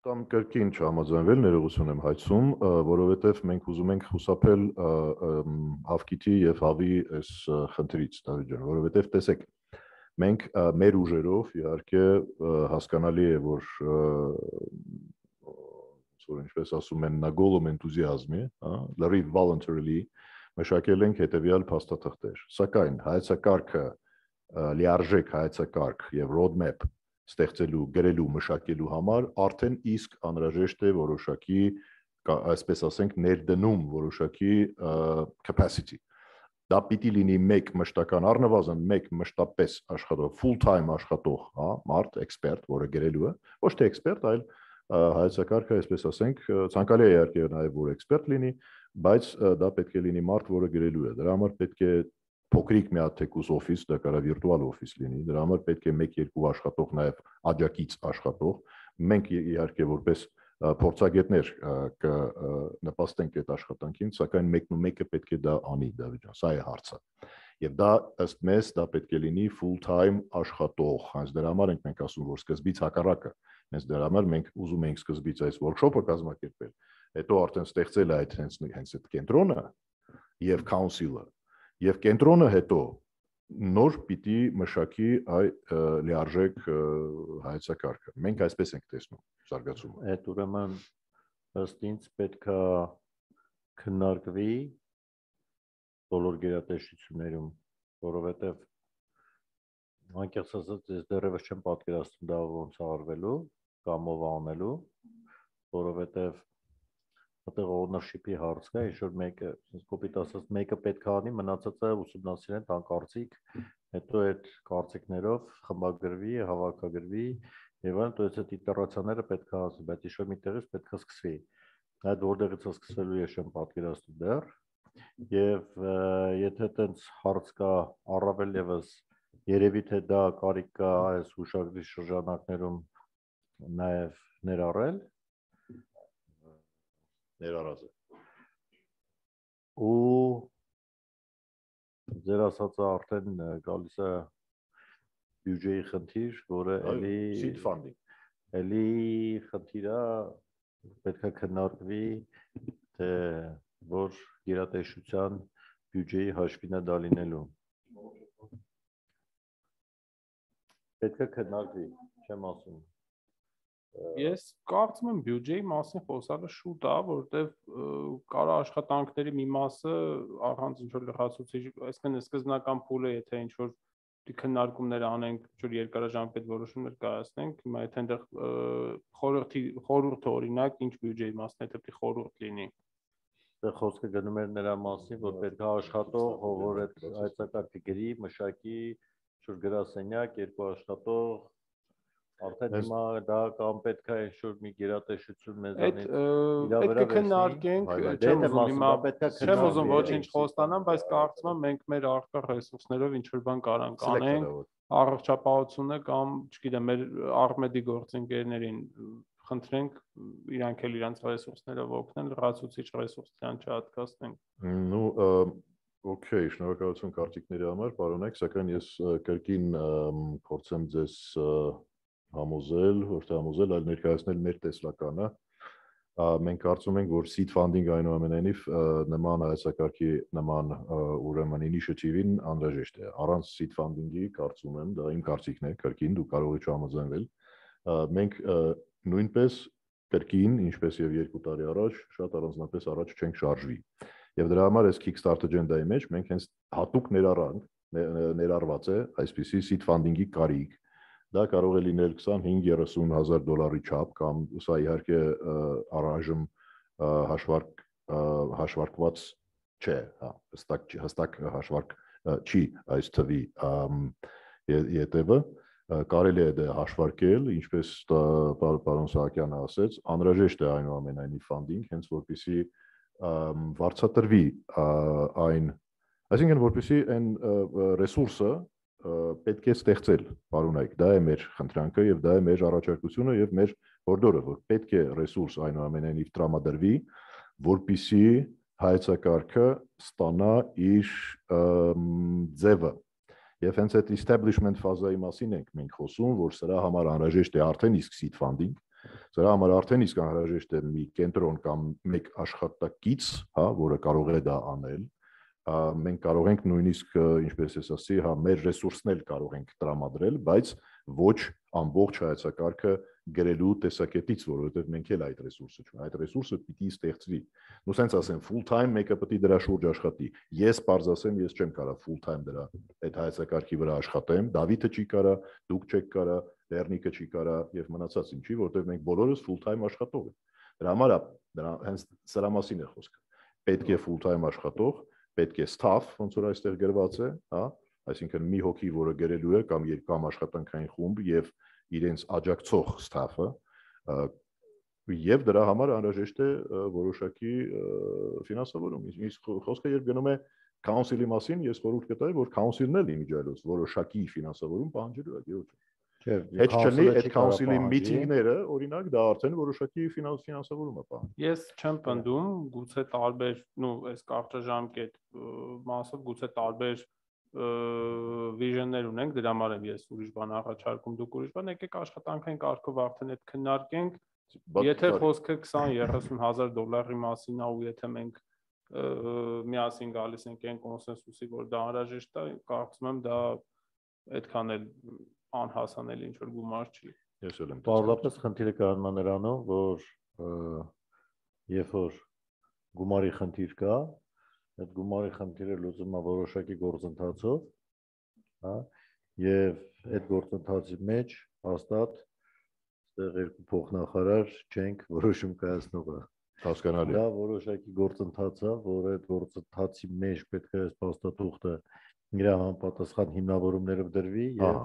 Կամ կրկին չհամաձայնվել, ներողություն եմ հայցում, որովհետև մենք ուզում ենք խուսափել Հավկիթի եւ Հավի այս խնդրից, Դավիթ ջան, որովհետև տեսեք, մենք մեր ուժերով իհարկե հասկանալի է, որ որ ինչպես ասում են, նա գոլում էնտուզիազմի, հա, լրիվ voluntarily մշակել ենք հետեւյալ փաստաթղթեր։ Սակայն հայեցակարգը լիարժեք հայեցակարգ եւ roadmap ստեղծելու, գրելու, մշակելու համար արդեն իսկ անհրաժեշտ է որոշակի, այսպես ասենք, ներդնում որոշակի capacity։ Դա պիտի լինի մեկ մշտական առնվազն մեկ մշտապես աշխատող, full time աշխատող, հա, մարդ, էքսպերտ, որը գրելու է, ոչ թե էքսպերտ, այլ հայեցակարգը, այսպես ասենք, ցանկալի է իհարկե նաև որ էքսպերտ լինի, բայց դա պետք է լինի մարդ, որը գրելու է։ Դրա համար պետք է փոքրիկ մի հատ թեկուս օֆիս, դա կարող է վիրտուալ օֆիս լինի, դրա համար պետք է մեկ-երկու աշխատող նաև աջակից աշխատող։ Մենք իհարկե որպես փորձագետներ կնպաստենք այդ աշխատանքին, սակայն մեկն ու մեկը պետք է դա անի, Դավիթ ջան, սա է հարցը։ Եվ դա ըստ մեզ դա պետք է լինի full time աշխատող, հենց դրա համար ենք մենք ասում, որ սկզբից հակառակը, հենց դրա համար մենք ուզում ենք սկզբից այս workshop-ը կազմակերպել, հետո արդեն ստեղծել է այդ հենց հենց այդ կենտրոնը եւ council-ը, եւ կենտրոնը հետո նոր պիտի մշակի այ լիարժեք հայեցակարգը։ Մենք այսպես ենք տեսնում զարգացումը։ Այդ ուրեմն ըստ ինձ պետք է քննարկվի բոլոր գերատեսչություններում, որովհետև անկեղծ ասած ես դեռևս չեմ պատկերացնում դա ոնց է արվելու կամ ով անելու, որովհետև այդտեղ ownership-ի հարց կա, ինչ որ մեկը, ասես կոպիտ ասած, մեկը պետք է անի, մնացածը ուսումնասիրեն, տան կարծիք, հետո այդ կարծիքներով խմբագրվի, հավաքագրվի, եւ այլն, то есть այդ իտերացիաները պետք է ասի, բայց ինչ որ միտեղից պետք է սկսվի։ Այդ որտեղից է սկսվելու ես չեմ պատկերացնում դեռ, եւ եթե այդպես հարց կա առավել եւս երևի թե դա կարիք կա այս հուշագրի շրջանակներում նաեւ ներառել ներառած է։ Ու ձեր ասածը արդեն գալիս է բյուջեի խնդիր, որը էլի seed funding, էլի խնդիրը պետք է քննարկվի, թե որ գերատեսչության բյուջեի հաշվին է դա լինելու։ Պետք է քննարկվի, չեմ ասում։ Ես կարծում եմ բյուջեի մասին խոսալը շուտ է, որովհետև կարա աշխատանքների մի մասը առանց ինչ-որ լրացուցիչ, այսինքն սկզբնական փուլը, եթե ինչ-որ քննարկումներ անենք, ինչ-որ երկարաժամկետ որոշումներ կայացնենք, հիմա եթե այնտեղ խորհրդի խորհուրդը օրինակ ինչ բյուջեի մասն է, դա պետք է խորհուրդ լինի։ Դե խոսքը գնում էր նրա մասին, որ պետք է աշխատող, որ այդ հայեցակարգը գրի, մշակի, ինչ-որ գրասենյակ, երկու աշխատող Արդեն հիմա դա կամ պետք է ինչ-որ մի գերատեսչություն մեզանից պետք է քննարկենք, չեմ ուզում հիմա չեմ ուզում ոչինչ խոստանամ, բայց կարծում եմ մենք մեր առկա ռեսուրսներով ինչ-որ բան կարանք անենք, առողջապահությունը կամ, չգիտեմ, մեր Արմեդի գործընկերներին խնդրենք իրանք էլ իրանք ռեսուրսներով օգնեն, լրացուցիչ ռեսուրս դրան չհատկացնենք։ Ну, օքեյ, շնորհակալություն կարծիքների համար, պարոնեք, սակայն ես կրկին փորձեմ ձեզ համոզել, ոչ թե համոզել, այլ ներկայացնել մեր տեսլականը, Մենք կարծում ենք, որ seed funding այնուամենայնիվ նման հայեցակարգի նման ուրեմն initiative-ին անհրաժեշտ է։ Առանց seed funding-ի կարծում եմ, դա իմ կարծիքն է, կրկին դու կարող ես չհամաձայնվել։ Մենք նույնպես կրկին, ինչպես եւ երկու տարի առաջ, շատ առանձնապես առաջ չենք շարժվի։ Եվ դրա համար այս Kickstarter agenda-ի մեջ մենք հենց հատուկ ներառանք, ներառված է այսպիսի seed funding-ի կարիք։ Դա կարող է լինել քսանհինգ երեսուն հազար դոլարի չափ կամ սա իհարկե առայժմ հաշվարկ հաշվարկված չէ, հա, հստակ հստակ հաշվարկ չի այս թվի ետևը, կարելի է դա հաշվարկել, ինչպես պարոն Սահակյանը ասեց, անհրաժեշտ է այնուամենայնիվ funding, հենց որպեսզի վարձատրվի այն, այսինքն որպեսզի այն ռեսուրսը պետք է ստեղծել, պարոնայք, դա է մեր խնդրանքը եւ դա է մեր առաջարկությունը եւ մեր հորդորը, որ պետք է ռեսուրս այնուամենայնիվ տրամադրվի, որպեսզի հայեցակարգը ստանա իր ձևը։ Եվ հենց այդ establishment ֆազայի մասին ենք մենք խոսում, որ սրա համար անհրաժեշտ է արդեն իսկ seed funding, սրա համար արդեն իսկ անհրաժեշտ է մի կենտրոն կամ մեկ աշխատակից, հա, որը կարող է դա անել։ Մենք կարող ենք նույնիսկ, ինչպես ես ասացի, հա, մեր ռեսուրսն էլ կարող ենք տրամադրել, բայց ոչ ամբողջ հայեցակարգը գրելու տեսակետից, որովհետև մենք էլ այդ ռեսուրսը չունենք, այդ ռեսուրսը պիտի ստեղծվի։ Ու սենց ասեմ, full time մեկը պետք է դրա շուրջ աշխատի։ Ես պարզ ասեմ, ես չեմ կարող full time դրա այդ հայեցակարգի վրա աշխատեմ, Դավիթը չի կարա, դուք չեք կարա, Լեռնիկը չի կարա եւ մնացած ինչի, որովհետև մենք բոլորս full time աշխատող ենք։ Դրա համար դրա հենց սրա մասին է խոսքը։ Պետք է full time աշխատող, պետք է staff, ոնց որ այստեղ գրված է, հա, այսինքն մի հոգի, որը գրելու է կամ երկամ աշխատանքային խումբ եւ իրենց աջակցող staff-ը, եւ դրա համար անհրաժեշտ է որոշակի ֆինանսավորում։ Իսկ խոսքը երբ գնում է council-ի մասին, ես խորհուրդ կտայի, որ council-ն էլ իմիջիայլոց որոշակի ֆինանսավորում պահանջելու է, գիտու՞։ Հետ չլինի այդ council-ի միտինգները, օրինակ, դա արդեն որոշակի ֆինանսավորում է պահանջում։ Ես չեմ պնդում, գուցե տարբեր, նո, այս կարճաժամկետ մասով գուցե տարբեր վիժններ ունենք, դրա համար եմ ես ուրիշ բան առաջարկում, դուք ուրիշ բան, եկեք աշխատանքային կարգով արդեն այդ քննարկենք, եթե խոսքը քսան երեսուն հազար դոլարի մասին է ու եթե մենք միասին գալիս ենք այն կոնսենսուսի, որ դա անհրաժեշտ է, կարծում եմ դա այդքան էլ անհասանելի ինչ որ գումար չի։ Ես էլ եմ։ Պարզապես խնդիրը կանգնա նրանով, որ երբ որ գումարի խնդիր կա, այդ գումարի խնդիրը լուծվում է որոշակի գործընթացով, հա, եւ այդ գործընթացի մեջ հաստատ այստեղ երկու փոխնախարար չենք որոշում կայացնողը։ Հասկանալի։ Դա որոշակի գործընթաց է, որ այդ գործընթացի մեջ պետք է փաստաթուղթը իր համապատասխան հիմնավորումներով դրվի եւ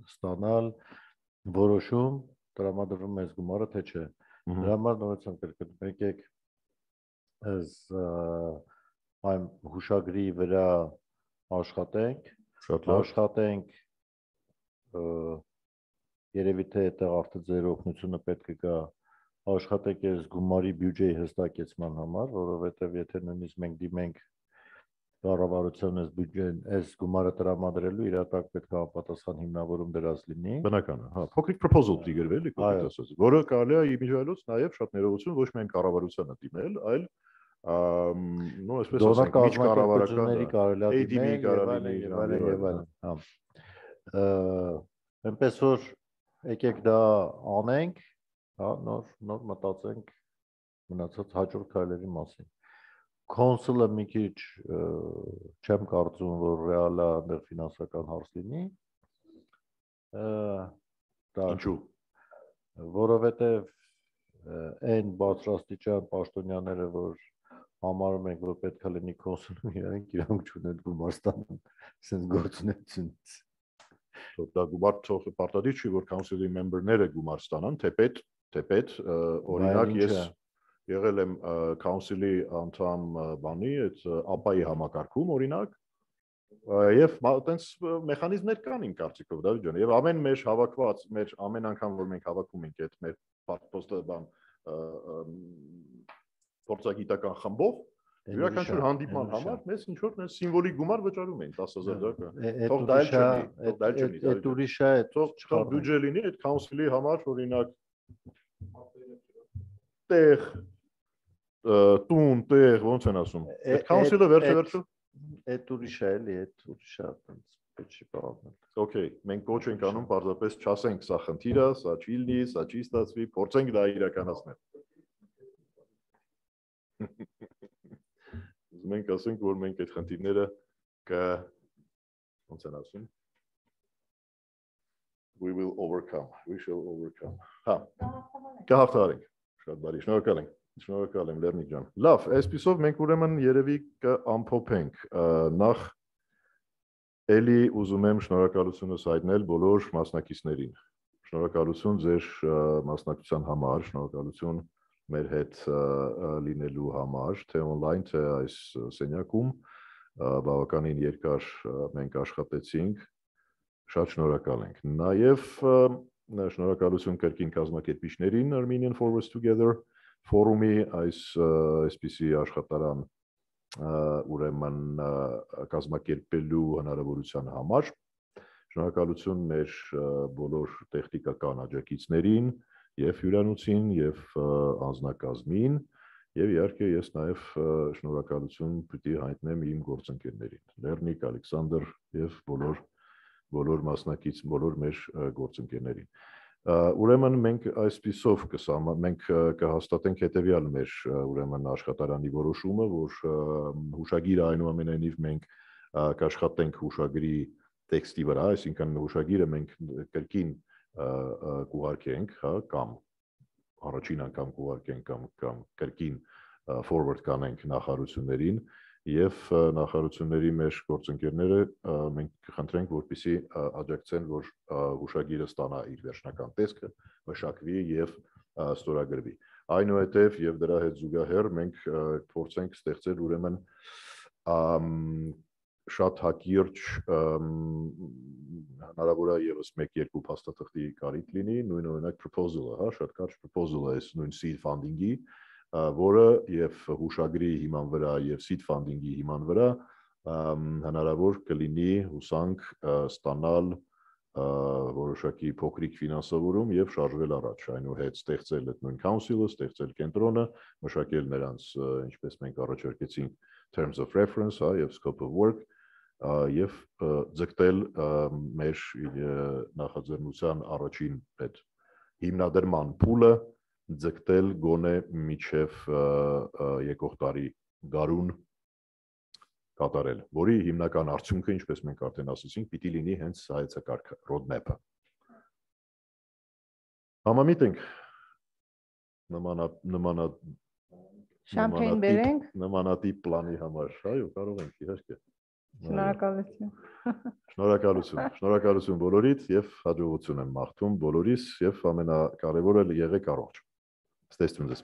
ստանալ որոշում տրամադրվում է գումարը թե չէ։ Դրա համար նորացան կրկնում եկեք այս այն հուշագրի վրա աշխատենք, աշխատենք երևի թե այդտեղ արդեն ձեր օգնությունը պետք է գա աշխատեք այս գումարի բյուջեի հստակեցման համար, որովհետեւ եթե նույնիսկ մենք դիմենք կառավարության այս բյուջեն, այս գումարը տրամադրելու իրատակ պետք է համապատասխան հիմնավորում դրած լինի։ Բնական է, հա, փոքրիկ proposal պիտի գրվել, կոպիտ ասած, որը կարելի է իմիջիայլոց նաև շատ ներողություն ոչ միայն կառավարությանը դիմել, այլ նո, այսպես ասենք, միջ կառավարականների կարելի է դիմել եւ այլն եւ այլն, հա։ Այնպես որ եկեք դա անենք, հա, նոր նոր մտածենք մնացած հաջորդ քայլերի մասին։ Կոնսուլը մի քիչ չեմ կարծում, որ ռեալ է այնտեղ ֆինանսական հարց լինի։ Ինչու՞։ Որովհետև այն բարձրաստիճան պաշտոնյաները, որ համարում ենք, որ պետք է լինի կոնսուլում, իրանք իրանք չունեն գումար ստանան, ասենց գործունեությունից։ Դա գումար թող պարտադիր չի, որ council-ի member-ները գումար ստանան, թեպետ, թեպետ, օրինակ ես եղել եմ council-ի անդամ բանի, այդ ապայի համակարգում, օրինակ, եւ այտենց մեխանիզմներ կան իմ կարծիքով, Դավիթ ջան, եւ ամեն մեր հավաքված, մեր ամեն անգամ որ մենք հավաքում ենք այդ մեր պոստը բան փորձագիտական խմբով, յուրաքանչյուր հանդիպման համար մեզ ինչ որ նենց սիմվոլիկ գումար վճարում էին տասը հազար դրամ։ Թող դա էլ չլինի, թող դա էլ չլինի, այդ ուրիշ է, թող բյուջե լինի այդ council-ի համար, օրինակ տեղ տուն, տեղ, ոնց են ասում։ Այդ council-ը վերջը վերջը։ Այդ ուրիշ է, էլի, այդ ուրիշ է, այդպես պետք չի բաղանել։ Okay, մենք կոչ ենք անում պարզապես չասենք սա խնդիր է, սա չի լինի, սա չի ստացվի, փորձենք դա իրականացնել։ Մենք ասենք, որ մենք այդ խնդիրները կը ոնց են ասում։ We will overcome, we shall overcome։ Հա։ Կհաղթահարենք։ Շատ բարի, շնորհակալ ենք։ Շնորհակալ եմ Լեռնիկ ջան։ Լավ, այսպիսով մենք ուրեմն երևի կամփոփենք նախ Էլի ուզում եմ շնորհակալությունս հայտնել բոլոր մասնակիցներին։ Շնորհակալություն ձեր մասնակցության համար, շնորհակալություն մեր հետ լինելու համար, թե on-line, թե այս սենյակում, բավականին երկար մենք աշխատեցինք, շատ շնորհակալ ենք։ Նաև շնորհակալություն կրկին կազմակերպիչներին Armenian Forwards Together ֆորումի այս այսպիսի աշխատարան ուրեմն կազմակերպելու հնարավորության համար շնորհակալություն մեր բոլոր տեխնիկական աջակիցներին եւ հյուրանոցին եւ անձնակազմին եւ իհարկե ես նաեւ շնորհակալություն պիտի հայտնեմ իմ գործընկերներին Լեռնիկ, Ալեքսանդր եւ բոլոր բոլոր մասնակից բոլոր մեր գործընկերներին Ուրեմն մենք այսպիսով կսամ մենք կհաստատենք հետեւյալ մեր ուրեմն աշխատարանի որոշումը, որ հուշագիրը այնուամենայնիվ մենք կաշխատենք հուշագրի տեքստի վրա, այսինքն հուշագիրը մենք կրկին կուղարկենք, հա, կամ առաջին անգամ կուղարկենք կամ կամ կրկին forward կանենք նախարարություններին եւ նախարարությունների մեր գործընկերները մենք կխնդրենք որպեսզի աջակցեն որ հուշագիրը ստանա իր վերջնական տեսքը մշակվի եւ ստորագրվի այնուհետեւ եւ դրա հետ զուգահեռ մենք փորձենք ստեղծել ուրեմն շատ հակիրճ հնարավոր է եւս մեկ-երկու փաստաթղթի կարիք լինի նույն օրինակ proposal-ը հա շատ կարճ proposal-ը է նույն seed funding-ի որը եւ հուշագրի հիման վրա եւ seed funding-ի հիման վրա հնարավոր կլինի հուսանք ստանալ որոշակի փոքրիկ ֆինանսավորում եւ շարժվել առաջ այնուհետ ստեղծել այդ նույն council-ը, ստեղծել կենտրոնը, մշակել նրանց ինչպես մենք առաջարկեցինք terms of reference, հա եւ scope of work եւ ձգտել մեր նախաձեռնության առաջին այդ հիմնադրման փուլը ձգտել գոնե միջև եկող տարի գարուն կատարել, որի հիմնական արդյունքը, ինչպես մենք արդեն ասացինք, պիտի լինի հենց հայեցակարգ roadmap-ը։ Համամիտ ենք նմանա նմանա Շամփեյն բերենք նմանատիպ պլանի համար, այո, կարող ենք իհարկե։ Շնորհակալություն։ Շնորհակալություն, շնորհակալություն բոլորիդ եւ հաջողություն եմ մաղթում բոլորիս եւ ամենակարևորը եղեք առողջ։ Ստեսություն ձեզ։